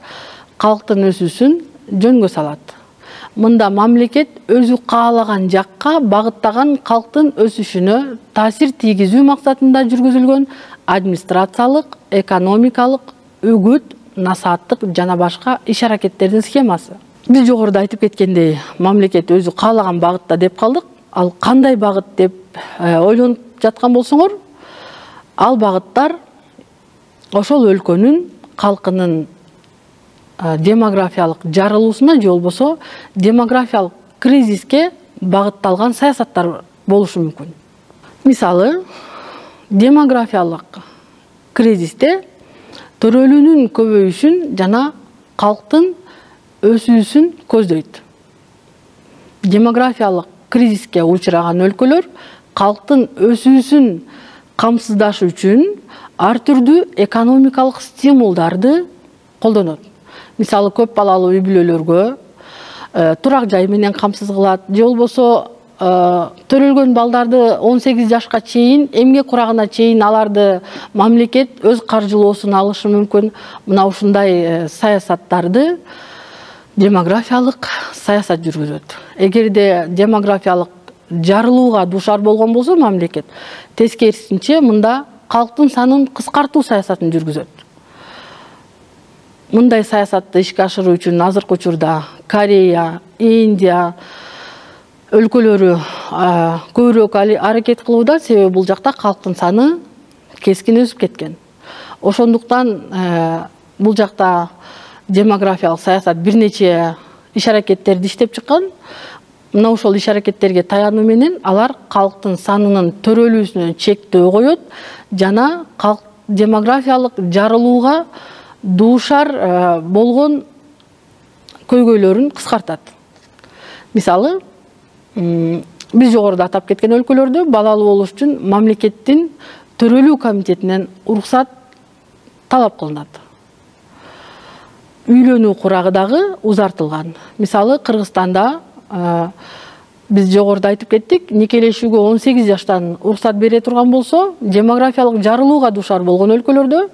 калктын өсүүсүн жөнгө салат. Мында мамлекет өзү каалаган жакка багыттаган калктын өсүшүнө таасир тийгизүү максатында жүргүзүлгөн администрациялык, экономикалык, үгүт, насааттык жана башка иш-аракеттердин схемасы. Биз жогоруда айтып кеткендей, мамлекет өзү каалаган багытта деп калдык. Ал кандай багыт деп ойлонуп жаткан болсоңор, ал багыттар ошол өлкөнүн калкынын демографиялык жарылуусуна же болбосо демографиялык кризиске багытталган саясаттар болушу мүмкүн. Мисалы, демографиялык кризисте төрөлүүнүн көбөйүшүн жана калктын өсүүсүн көздөйт. Демографиялык кризиске учураган өлкөлөр калктын өсүүсүн камсыздаш үчүн ар түрдүү экономикалык стимулдарды колдонот. Мисалы, көп балалуу үй бүлөлөргө турак жай менен камсыз кылат, же болбосо төрөлгөн балдарды он сегиз жашка чейин, эмгек курагына чейин аларды мамлекет өз каржылоосуна алышы мүмкүн. Мына ушундай саясаттарды демографиялык саясат жүргүзөт. Эгерде демографиялык жарылууга дуушар болгон болсо мамлекет, тескерисинче мында калктын санын кыскартуу саясатын жүргүзөт. Мындай саясатты ишке ашыруу үчүн азыркы учурда Корея, Индия өлкөлөрү көбүрөөк аракет кылууда, себеби бул жакта калктын саны кескин өсүп кеткен. Ошондуктан бул жакта демографиялык саясат бир нече иш аракеттерди иштеп чыккан. Мына ошол иш аракеттерге таянуу менен алар калктын санынын төрөлүүсүнө чектөө коет жана демографиялык жарылууга дуушар болгон көйгөйлөрүн кыскартат. Мисалы, биз жогоруда атап кеткен өлкөлөрдө балалуу болуш үчүн мамлекеттин төрөлүү комитетинен уруксат талап кылынат. Үйлөнүү курагы дагы узартылган. Мисалы, Кыргызстанда биз жогоруда айтып кеттик, никелешүүгө он сегиз жаштан уруксат бере турган болсо, демографиялык жарылууга дуушар болгон өлкөлөрдө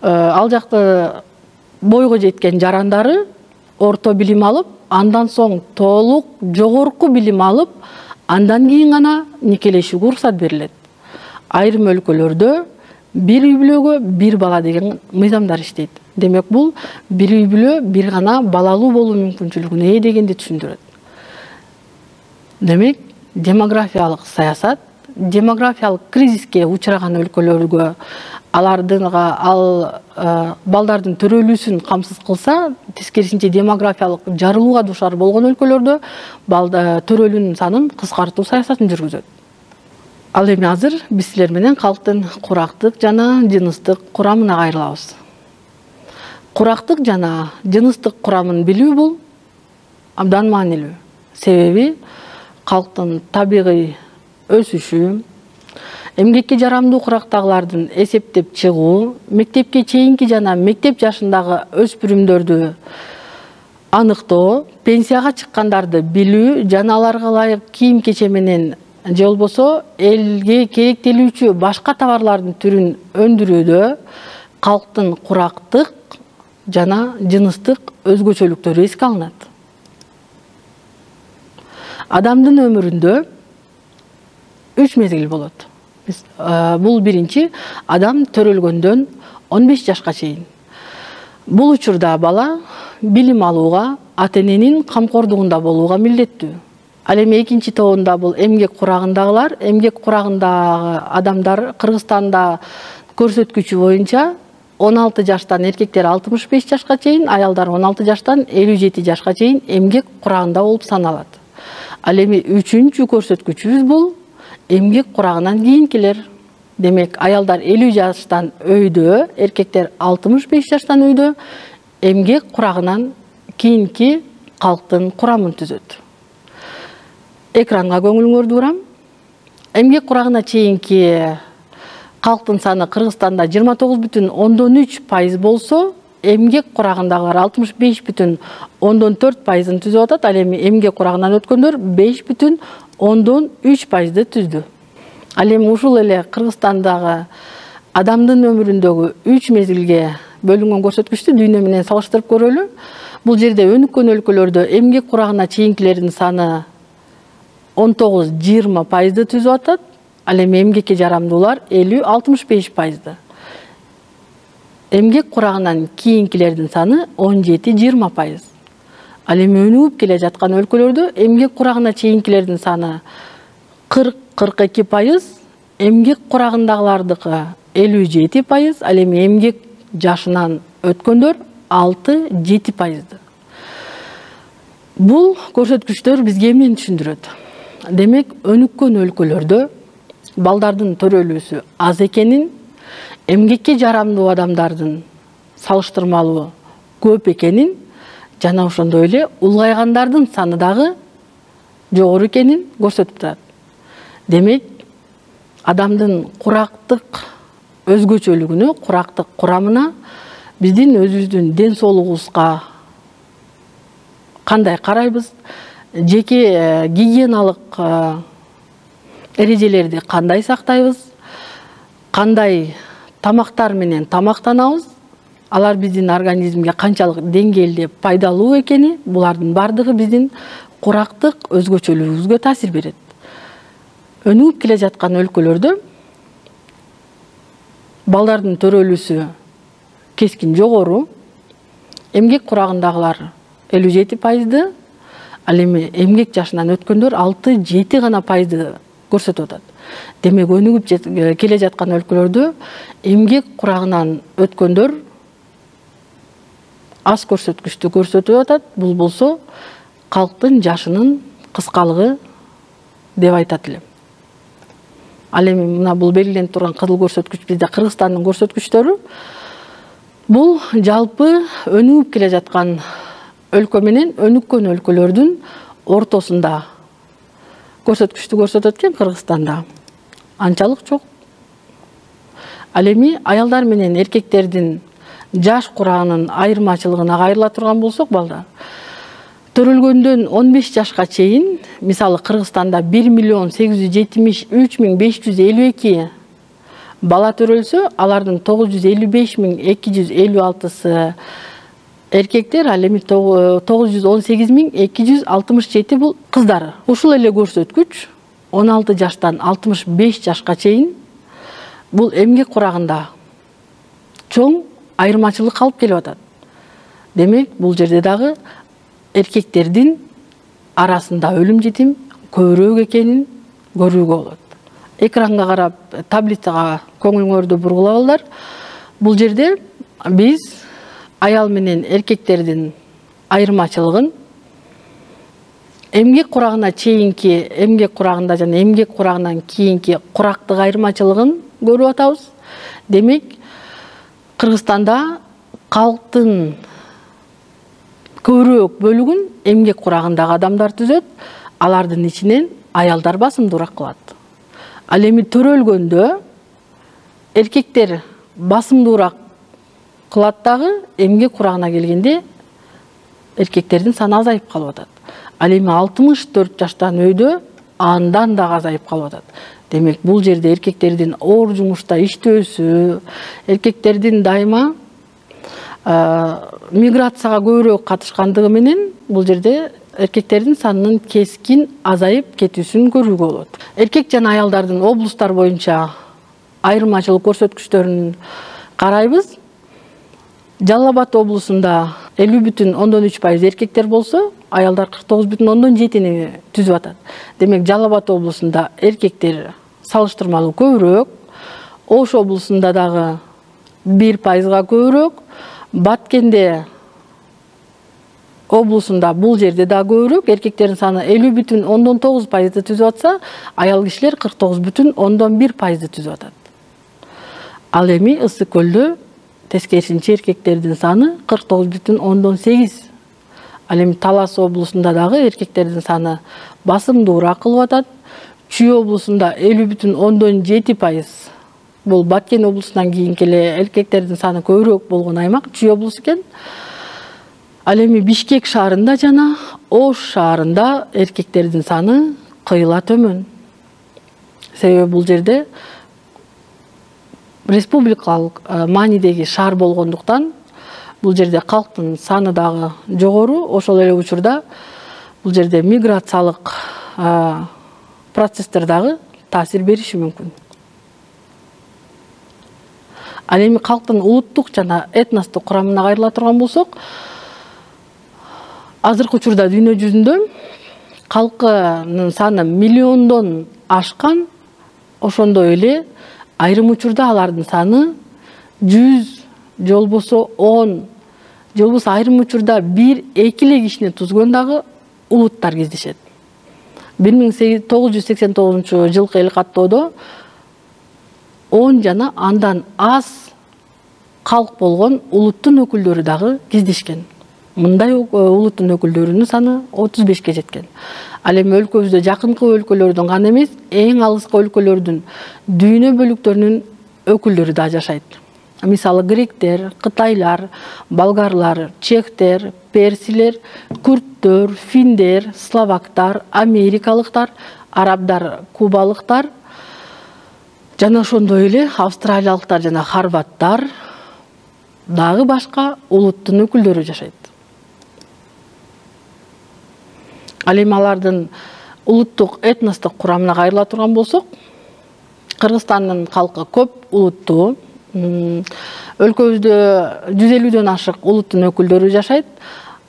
ал жакты бойго жеткен жарандары орто билим алып, андан соң толук жогорку билим алып, андан кийин гана никелешүүгө уруксат берилет. Айрым өлкөлөрдө бир үй бүлөгө бир бала деген мыйзамдар иштейт. Демек, бул бир үй бүлө бир гана балалуу болуу мүмкүнчүлүгүнө ээ дегенди түшүндүрөт. Демек, демографиялык саясат демографиялык кризиске учураган өлкөлөргө алардынга ал балдардын төрөлүүсүн камсыз кылса, тескерисинче демографиялык жарылууга дуушар болгон өлкөлөрдө төрөлүүнүн санын кыскартуу саясатын жүргүзөт. Ал эми азыр биз силер менен калктын курактык жана жыныстык курамына кайрылабыз. Курактык жана жыныстык курамын билүү бул абдан маанилүү. Себеби калктын табигый өсүшү, эмгекке жарамдуу курактагылардын эсептеп чыгуу, мектепке чейинки жана мектеп жашындагы өспүрүмдөрдү аныктоо, пенсияга чыккандарды билүү жана аларга ылайык кийим кече менен же болбосо элге керектелүүчү башка товарлардын түрүн өндүрүүдө калктын курактык жана жыныстык өзгөчөлүктөрү эске алынат. Адамдын өмүрүндө үч мезгил болот. Бул биринчи, адам төрөлгөндөн он беш жашка чейин. Бул учурда бала билим алууга, ата-эненин камкордугунда болууга милдеттүү. Ал эми экинчи тобунда бул эмгек курагындагылар. Эмгек курагындагы адамдар Кыргызстанда көрсөткүчү боюнча он алты жаштан эркектер алтымыш беш жашка чейин, аялдар он алты жаштан элүү жети жашка чейин эмгек курагында болуп саналат. Ал эми үчүнчү көрсөткүчүбүз бул эмгек курагынан кийинкилер. Демек, аялдар элүү жаштан өйдө, эркектер алтымыш беш жаштан өйдө эмгек курагынан кийинки калктын курамын түзөт. Экранга көңүлүңөрдү бурам. Эмгек курагына чейинки калктын саны Кыргызстанда жыйырма тогуз бүтүн ондон үч пайыз болсо, эмгек курагындагылар алтымыш беш бүтүн ондон төрт пайызын түзүп атат. Ал эми эмгек курагынан өткөндөр беш бүтүн ондон үч пайызды түздү. Ал эми ушул эле Кыргызстандагы адамдын өмүрүндөгү үч мезгилге бөлүнгөн көрсөткүчтү дүйнө менен салыштырып көрөлү. Бул жерде өнүккөн өлкөлөрдө эмгек курагына чейинкилердин саны он тогуз жыйырма пайызды түзүп атат. Ал эми эмгекке жарамдуулар элүү алтымыш беш пайызды. Эмгек курагынан кийинкилердин саны он жети жыйырма пайыз. Ал эми өнүгүп келе жаткан өлкөлөрдө эмгек курагына чейинкилердин саны кырк кырк эки пайыз, эмгек курагындагылардыкы элүү жети пайыз, ал эми эмгек жашынан өткөндөр алты жети пайызды. Бул көрсөткүчтөр бизге эмнени түшүндүрөт? Демек, өнүккөн өлкөлөрдө балдардын төрөлүүсү аз экенин, эмгекке жарамдуу адамдардын салыштырмалуу көп экенин, жана ошондой эле улгайгандардын саны дагы жогору экенин көрсөтүп турат. Демек, адамдын курактык өзгөчөлүгүнө, курактык курамына, биздин өзүбүздүн ден соолугубузга кандай карайбыз, жеке гигиеналык эрежелерди кандай сактайбыз, кандай тамактар менен тамактанабыз, алар биздин организмге канчалык деңгээлде пайдалуу экени, булардын бардыгы биздин курактык өзгөчөлүгүбүзгө таасир берет. Өнүгүп келе жаткан өлкөлөрдө балдардын төрөлүүсү кескин жогору, эмгек курагындагылар элүү жети пайызды, ал эми эмгек жашынан өткөндөр алты жети гана пайызды көрсөтүп атат. Демек, өнүгүп келе жаткан өлкөлөрдө эмгек курагынан өткөндөр аз көрсөткүчтү көрсөтүп атат. Бул болсо калктын жашынын кыскалыгы деп айтат элем. Ал эми мына бул белгиленип турган кызыл көрсөткүч бизде Кыргызстандын көрсөткүчтөрү. Бул жалпы өнүгүп келе жаткан өлкө менен өнүккөн өлкөлөрдүн ортосунда көрсөткүчтү көрсөтөт экен. Кыргызстанда анчалык жок. Ал эми аялдар менен эркектердин жаш курагынын айырмачылыгына кайрыла турган болсок, балдар төрөлгөндөн он беш жашка чейин, мисалы Кыргызстанда бир миллион сегиз жүз жетимиш үч миң беш жүз элүү эки бала төрөлсө, алардын тогуз жүз элүү беш миң эки жүз элүү алтысы эркектер, ал эми тогуз жүз он сегиз миң эки жүз алтымыш жети бул кыздар. Ушул эле көрсөткүч он алты жаштан алтымыш беш жашка чейин бул эмгек курагында чоң айырмачылык калып келип атат. Демек, бул жерде дагы эркектердин арасында өлүм жетим көбүрөөк экенин көрүүгө болот. Экранга карап, таблицага көңүлүңөрдү бургулаңыздар. Бул жерде биз аял менен эркектердин айырмачылыгын эмгек курагына чейинки, эмгек курагында жана эмгек курагынан кийинки курактык айырмачылыгын көрүп атабыз. Демек, Кыргызстанда калктын көбүрөөк бөлүгүн эмгек курагындагы адамдар түзөт, алардын ичинен аялдар басымдуураак кылат. Ал эми төрөлгөндө эркектер басымдуураак кылат дагы, эмгек курагына келгенде эркектердин саны азайып калып атат. Ал эми алтымыш төрт жаштан өйдө андан дагы азайып калып атат. Демек, бул жерде эркектердин оор жумушта иштөөсү, эркектердин дайыма миграцияга көбүрөөк катышкандыгы менен бул жерде эркектердин санынын кескин азайып кетүүсүн көрүүгө болот. Эркек жана аялдардын облустар боюнча айырмачылык көрсөткүчтөрүн карайбыз. Жалал Абад облусунда элүү бүтүн ондон үч пайыз эркектер болсо, аялдар кырк тогуз бүтүн ондон жетини түзүп атат. Демек, Жалал Абад облусунда эркектер салыштырмалуу көбүрөөк, Ош облусунда дагы бир пайызга көбүрөөк, Баткенде облусунда бул жерде да көбүрөөк, эркектердин саны элүү бүтүн ондон тогуз пайызды түзүп атса, аял кишилер кырк тогуз бүтүн ондон бир пайызды түзүп атат. Ал эми Ысык көлдө тескерисинче эркектердин саны кырк тогуз бүтүн ондон сегиз. Ал эми Талас облусунда дагы эркектердин саны басымдуураак кылып атат. Чүй облусунда элүү бүтүн ондон жети пайыз. Бул Баткен облусунан кийинки эле эркектердин саны көбүрөөк болгон аймак Чүй облусу экен. Ал эми Бишкек шаарында жана Ош шаарында эркектердин саны кыйла төмөн. Себеби бул жерде республикалык маанидеги шаар болгондуктан бул жерде калктын саны дагы жогору. Ошол эле учурда бул жерде миграциялык процесстер дагы таасир бериши мүмкүн. Ал эми калктын улуттук жана этностук курамына кайрыла турган болсок, азыркы учурда дүйнө жүзүндө калкынын саны миллиондон ашкан, ошондой эле айрым учурда алардын саны жүз, же болбосо он, же болбосо айрым учурда бир эки эле кишини түзгөн дагы улуттар кездешет. бир миң тогуз жүз сексен тогузунчу жылкы эл каттоодо он жана андан аз калк болгон улуттун өкүлдөрү дагы кездешкен. Мындай улуттун өкүлдөрүнүн саны отуз бешке жеткен. Ал эми өлкөбүздө жакынкы өлкөлөрдүн гана эмес, эң алыскы өлкөлөрдүн дүйнө бөлүктөрүнүн өкүлдөрү да жашайт. Мисалы гректер, кытайлар, болгарлар, чехтер, персилер, күрттөр, финдер, словактар, америкалыктар, арабдар, кубалыктар жана ошондой эле австралиялыктар жана хорваттар дагы башка улуттун өкүлдөрү жашайт. Ал эми алардын улуттук этностук курамына кайрыла турган болсок, Кыргызстандын калкы көп улуттуу. Өлкөбүздө жүз элүүдөн ашык улуттун өкүлдөрү жашайт.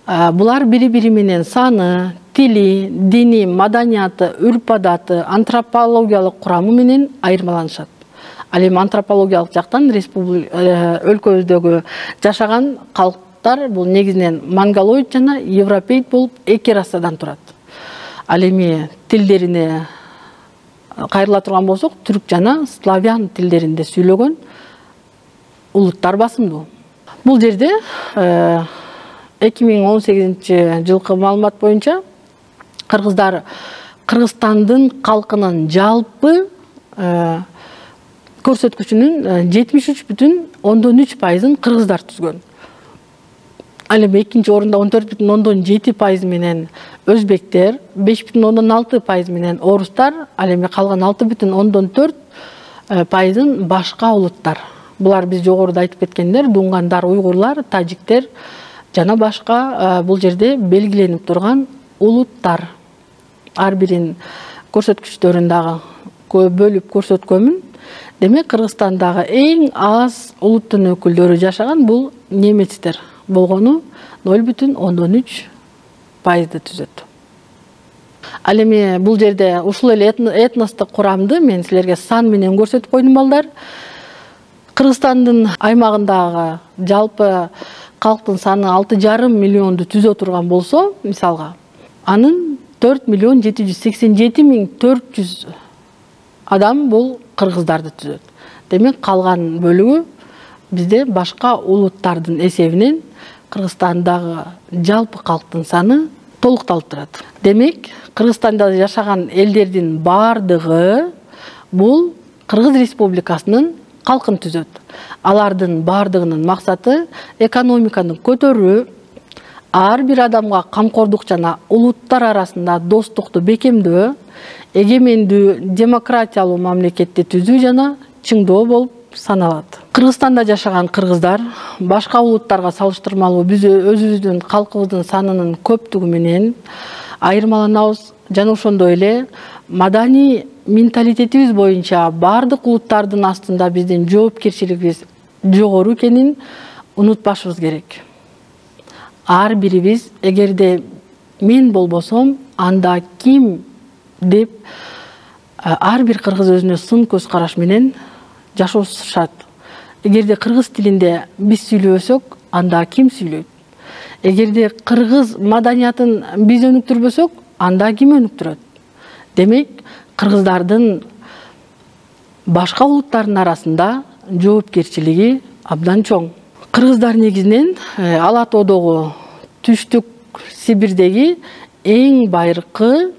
Булар бири-бири менен саны, тили, дини, маданияты, үрп-адаты, антропологиялык курамы менен айырмаланышат. Ал эми антропологиялык жактан өлкөбүздөгү жашаган калктар бул негизинен монголоид жана европеид болуп эки расадан турат. Ал эми тилдерине кайрыла турган болсок, түрк жана славян тилдеринде сүйлөгөн улуттар басымдуу. Бул жерде эки миң он сегизинчи жылкы маалымат боюнча кыргыздар Кыргызстандын калкынын жалпы көрсөткүчүнүн жетимиш үч бүтүн ондон үч пайызын кыргыздар түзгөн. Ал эми экинчи орунда он төрт бүтүн ондон жети пайыз менен өзбектер, беш бүтүн ондон алты пайыз менен орустар, ал эми калган алты бүтүн ондон төрт пайызын башка улуттар. Булар биз жогоруда айтып кеткендер, дуңгандар, уйгурлар, тажиктер жана башка бул жерде белгиленип турган улуттар. Ар бирин көрсөткүчтөрүн дагы бөлүп көрсөткөнмүн. Демек, Кыргызстандагы эң аз улуттун өкүлдөрү жашаган бул немецтер болгону ноль бүтүн ондон үч пайызды түзөт. Ал эми бул жерде ушул эле этностук курамды мен силерге сан менен көрсөтүп койдум балдар. Кыргызстандын аймагындагы жалпы калктын саны алты жарым миллионду түзө турган болсо, мисалга, анын төрт миллион жети жүз сексен жети миң төрт жүз адам бул кыргыздарды түзөт. Демек, калган бөлүгү бизде башка улуттардын эсебинен Кыргызстандагы жалпы калктын саны толукталып турат. Демек, Кыргызстанда жашаган элдердин бардыгы бул Кыргыз Республикасынын калкын түзөт. Алардын бардыгынын максаты экономиканы көтөрүү, ар бир адамга камкордук жана улуттар арасында достукту бекемдөө, эгемендүү демократиялуу мамлекетти түзүү жана чыңдоо болуп саналат. Кыргызстанда жашаган кыргыздар башка улуттарга салыштырмалуу биз өзүбүздүн калкыбыздын санынын көптүгү менен айырмаланабыз жана ошондой эле маданий менталитетибиз боюнча бардык улуттардын астында биздин жоопкерчилигибиз жогору экенин унутпашыбыз керек. Ар бирибиз, эгерде мен болбосом, анда ким деп ар бир кыргыз өзүнө сын көз караш менен жашашат. Эгерде кыргыз тилинде биз сүйлөбөсөк, анда ким сүйлөйт? Эгерде кыргыз маданиятын биз өнүктүрбөсөк, анда ким өнүктүрөт? Демек, кыргыздардын башка улуттардын арасында жоопкерчилиги абдан чоң. Кыргыздар негизинен Ала тоодогу түштүк Сибирдеги эң байыркы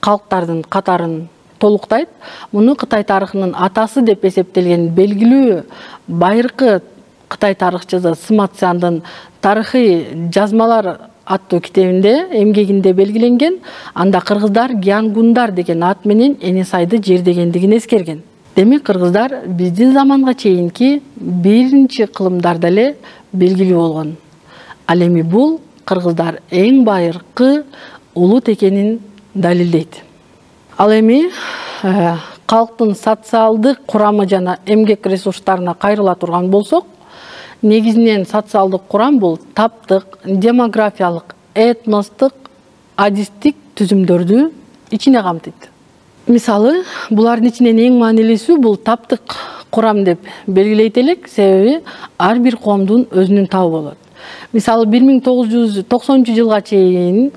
калктардын катарын толуктайт. Муну Кытай тарыхынын атасы деп эсептелген белгилүү байыркы Кытай тарыхчысы Сыма Цзяндын тарыхый жазмалар аттуу китебинде, эмгегинде белгиленген. Анда кыргыздар Гянгундар деген ат менен Энесайды жердегендигин эскерген. Демек, кыргыздар биздин заманга чейинки биринчи кылымдарда эле белгилүү болгон. Ал эми бул кыргыздар эң байыркы улут экенин далилдейт. Ал эми калктын социалдык курамы жана эмгек ресурстарына кайрыла турган болсок, негизинен социалдык курам бул таптык, демографиялык, этностук, адистик түзүмдөрдү ичине камтыйт. Мисалы, булардын ичинен эң маанилүүсү бул таптык курам деп белгилейт элек, себеби ар бир коомдун өзүнүн табы болот. Мисалы, бир миң тогуз жүз токсонунчу жылга чейин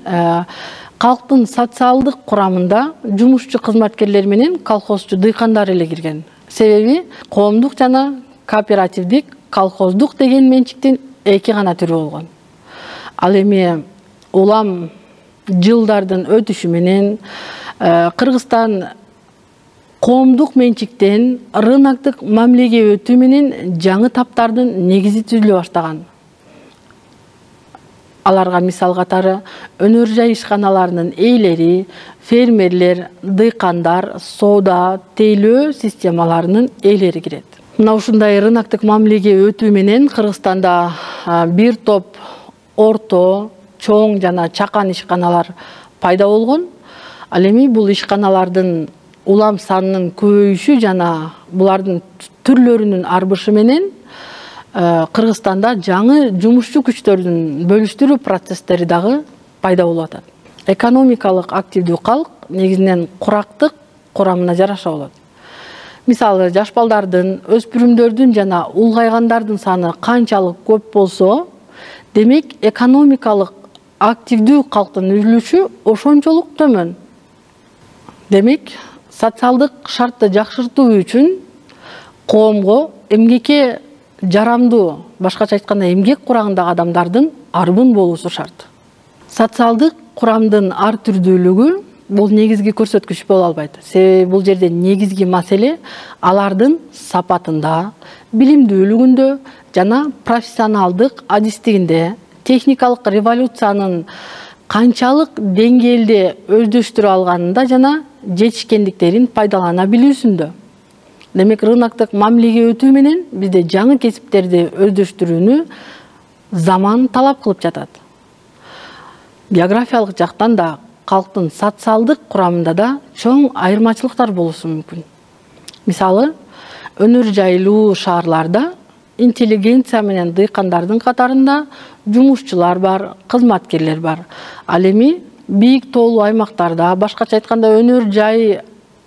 калктын социалдык курамында жумушчу кызматкерлер менен колхозчу дыйкандар эле кирген. Себеби коомдук жана кооперативдик колхоздук деген менчиктин эки гана түрү болгон. Ал эми улам жылдардын өтүшү менен Кыргызстан коомдук менчиктен рыноктук мамилеге өтүү менен жаңы таптардын негизи түзүлө баштаган. Аларга мисал катары өнөр жай ишканаларынын ээлери, фермерлер, дыйкандар, соода, тейлөө системаларынын ээлери кирет. Мына ушундай рыноктук мамилеге өтүү менен Кыргызстанда бир топ орто, чоң жана чакан ишканалар пайда болгон. Ал эми бул ишканалардын улам санынын көбөйүшү жана булардын түрлөрүнүн арбышы менен Кыргызстанда жаңы жумушчу күчтөрдүн бөлүштүрүү процесстери дагы пайда болуп атат. Экономикалык активдүү калк негизинен курактык курамына жараша болот. Мисалы, жаш балдардын, өспүрүмдөрдүн жана улгайгандардын саны канчалык көп болсо, демек экономикалык активдүү калктын үлүшү ошончолук төмөн. Демек, социалдык шартты жакшыртуу үчүн коомго эмгекке жарамдуу, башкача айтканда эмгек курагындагы адамдардын арбын болуусу шарт. Социалдык курамдын ар түрдүүлүгү бул негизги көрсөткүч боло албайт. Себеби бул жерде негизги маселе алардын сапатында, билимдүүлүгүндө жана профессионалдык адистигинде, техникалык революциянын канчалык деңгээлде өздөштүрө алганында жана жетишкендиктерин пайдалана билүүсүндө. Демек, рыноктук мамилеге өтүү менен бизде жаңы кесиптерди өздөштүрүүнү заман талап кылып жатат. Географиялык жактан да калктын социалдык курамында да чоң айырмачылыктар болушу мүмкүн. Мисалы, өнөр жайлуу шаарларда интеллигенция менен дыйкандардын катарында жумушчулар бар, кызматкерлер бар. Ал эми бийик тоолуу аймактарда, башкача айтканда өнөр жай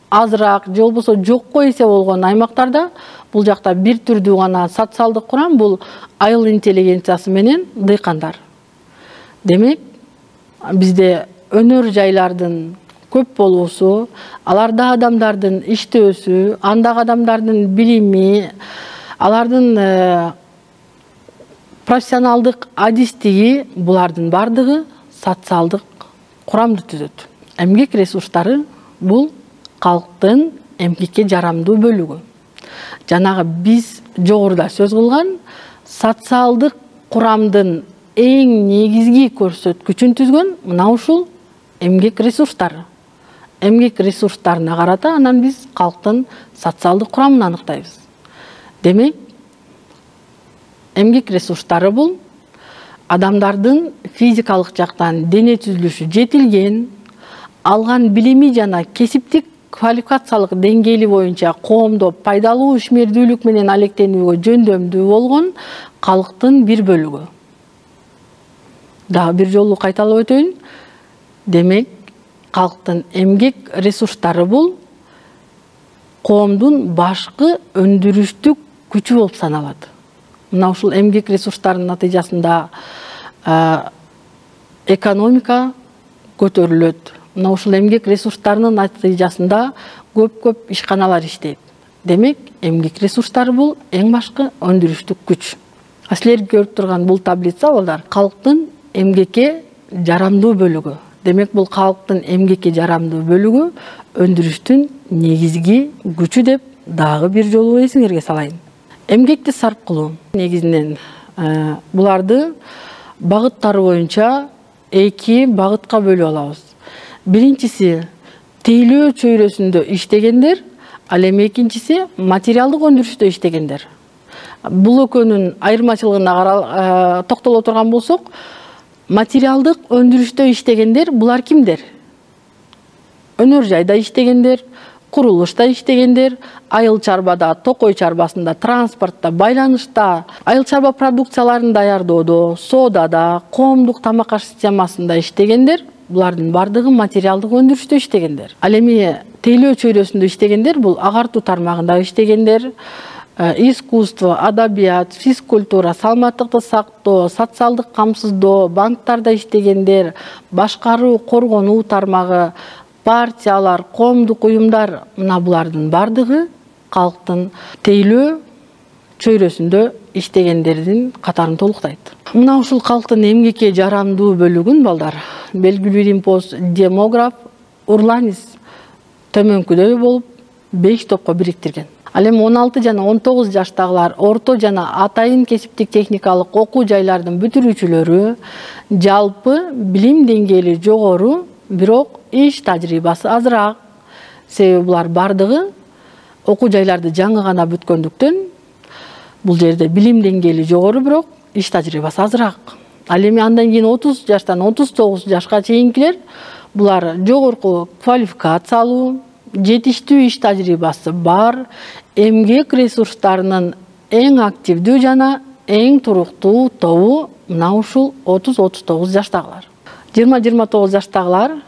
азыраак же болбосо жокко эсе болгон аймактарда бул жакта бир түрдүү гана социалдык курам, бул айыл интеллигенциясы менен дыйкандар. Демек, бизде өнөр жайлардын көп болуусу, аларда адамдардын иштөөсү, андагы адамдардын билими, алардын профессионалдык адистиги, булардын бардыгы социалдык курамды түзөт. Эмгек ресурстары бул калктын эмгекке жарамдуу бөлүгү. Жанагы биз жогоруда сөз кылган социалдык курамдын эң негизги көрсөткүчүн түзгөн мына ушул эмгек ресурстары. Эмгек ресурстарына карата анан биз калктын социалдык курамын аныктайбыз. Демек, эмгек ресурстары бул адамдардын физикалык жактан дене түзүлүшү жетилген, алган билими жана кесиптик квалификациялык деңгээли боюнча коомдо пайдалуу ишмердүүлүк менен алектенүүгө жөндөмдүү болгон калктын бир бөлүгү. Дагы бир жолу кайталап өтөйүн. Демек, калктын эмгек ресурстары бул коомдун башкы өндүрүштүк күчү болуп саналат. Мына ушул эмгек ресурстарынын натыйжасында экономика көтөрүлөт. Мына ушул эмгек ресурстарынын натыйжасында көп-көп ишканалар иштейт. Демек, эмгек ресурстары бул эң башкы өндүрүштүк күч. Силер көрүп турган бул таблица балдар калктын эмгекке жарамдуу бөлүгү. Демек, бул калктын эмгекке жарамдуу бөлүгү өндүрүштүн негизги күчү деп дагы бир жолу эсиңерге салайын. Эмгекти сарп кылуу негизинен буларды багыттары боюнча эки багытка бөлүп алабыз. Биринчиси тейлөө чөйрөсүндө иштегендер, ал эми экинчиси материалдык өндүрүштө иштегендер. Бул экөөнүн айырмачылыгына токтоло турган болсок, материалдык өндүрүштө иштегендер булар кимдер? Өнөр жайда иштегендер, курулушта иштегендер, айыл чарбада, токой чарбасында, транспортто, байланышта, айыл чарба продукцияларын даярдоодо, соодада, коомдук тамак аш системасында иштегендер, булардын бардыгы материалдык өндүрүштө иштегендер. Ал эми тейлөө чөйрөсүндө иштегендер бул агартуу тармагында иштегендер, искусство, адабият, физкультура, саламаттыкты сактоо, социалдык камсыздоо, банктарда иштегендер, башкаруу, коргонуу тармагы, партиялар, коомдук уюмдар, мына булардын бардыгы калктын тейлөө чөйрөсүндө иштегендердин катарын толуктайт. Мына ушул калктын эмгекке жарамдуу бөлүгүн балдар белгилүү римпоз демограф Урланис төмөнкүдөй болуп беш топко бириктирген. Ал эми он алты жана он тогуз жаштагылар орто жана атайын кесиптик техникалык окуу жайлардын бүтүрүүчүлөрү, жалпы билим деңгээли жогору, бирок иш тажрыйбасы азыраак. Себеби булар бардыгы окуу жайларды жаңы гана бүткөндүктөн бул жерде билим деңгээли жогору, бирок иш тажрыйбасы азыраак. Ал эми андан кийин отуз жаштан отуз тогуз жашка чейинкилер булар жогорку квалификация алуу, жетиштүү иш тажрыйбасы бар, эмгек ресурстарынын эң активдүү жана эң туруктуу тобу мына ушул отуз отуз тогуз жаштагылар. жыйырма жыйырма тогуз жаштагылар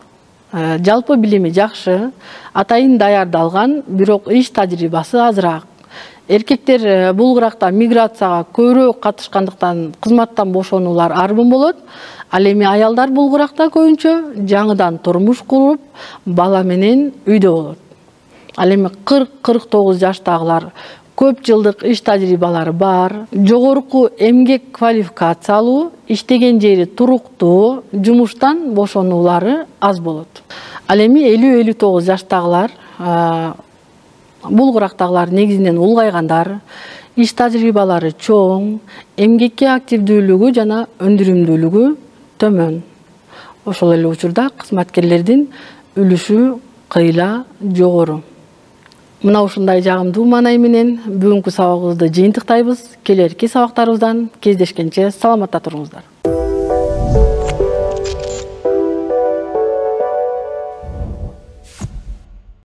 жалпы билими жакшы, атайын даярдалган, бирок иш тажрыйбасы азыраак. Эркектер бул кыракта миграцияга көбүрөөк катышкандыктан кызматтан бошонулар арбын болот. Ал эми аялдар бул кыракта көбүнчө жаңыдан турмуш куруп, бала менен үйдө болот. Ал эми кырк кырк тогуз жаштагылар көп жылдык иш тажрыйбалары бар, жогорку эмгек квалификациялуу, иштеген жери туруктуу, жумуштан бошонулары аз болот. Ал эми элүү элүү тогуз жаштагылар бул кырактагылар негизинен улгайгандар, иш тажрыйбалары чоң, эмгекке активдүүлүгү жана өндүрүмдүүлүгү төмөн. Ошол эле учурда кызматкерлердин үлүшү кыйла жогору. Мына ушундай жагымдуу маанай менен бүгүнкү сабагыбызды жыйынтыктайбыз. Келерки сабактарыбыздан кездешкенче саламатта туруңуздар.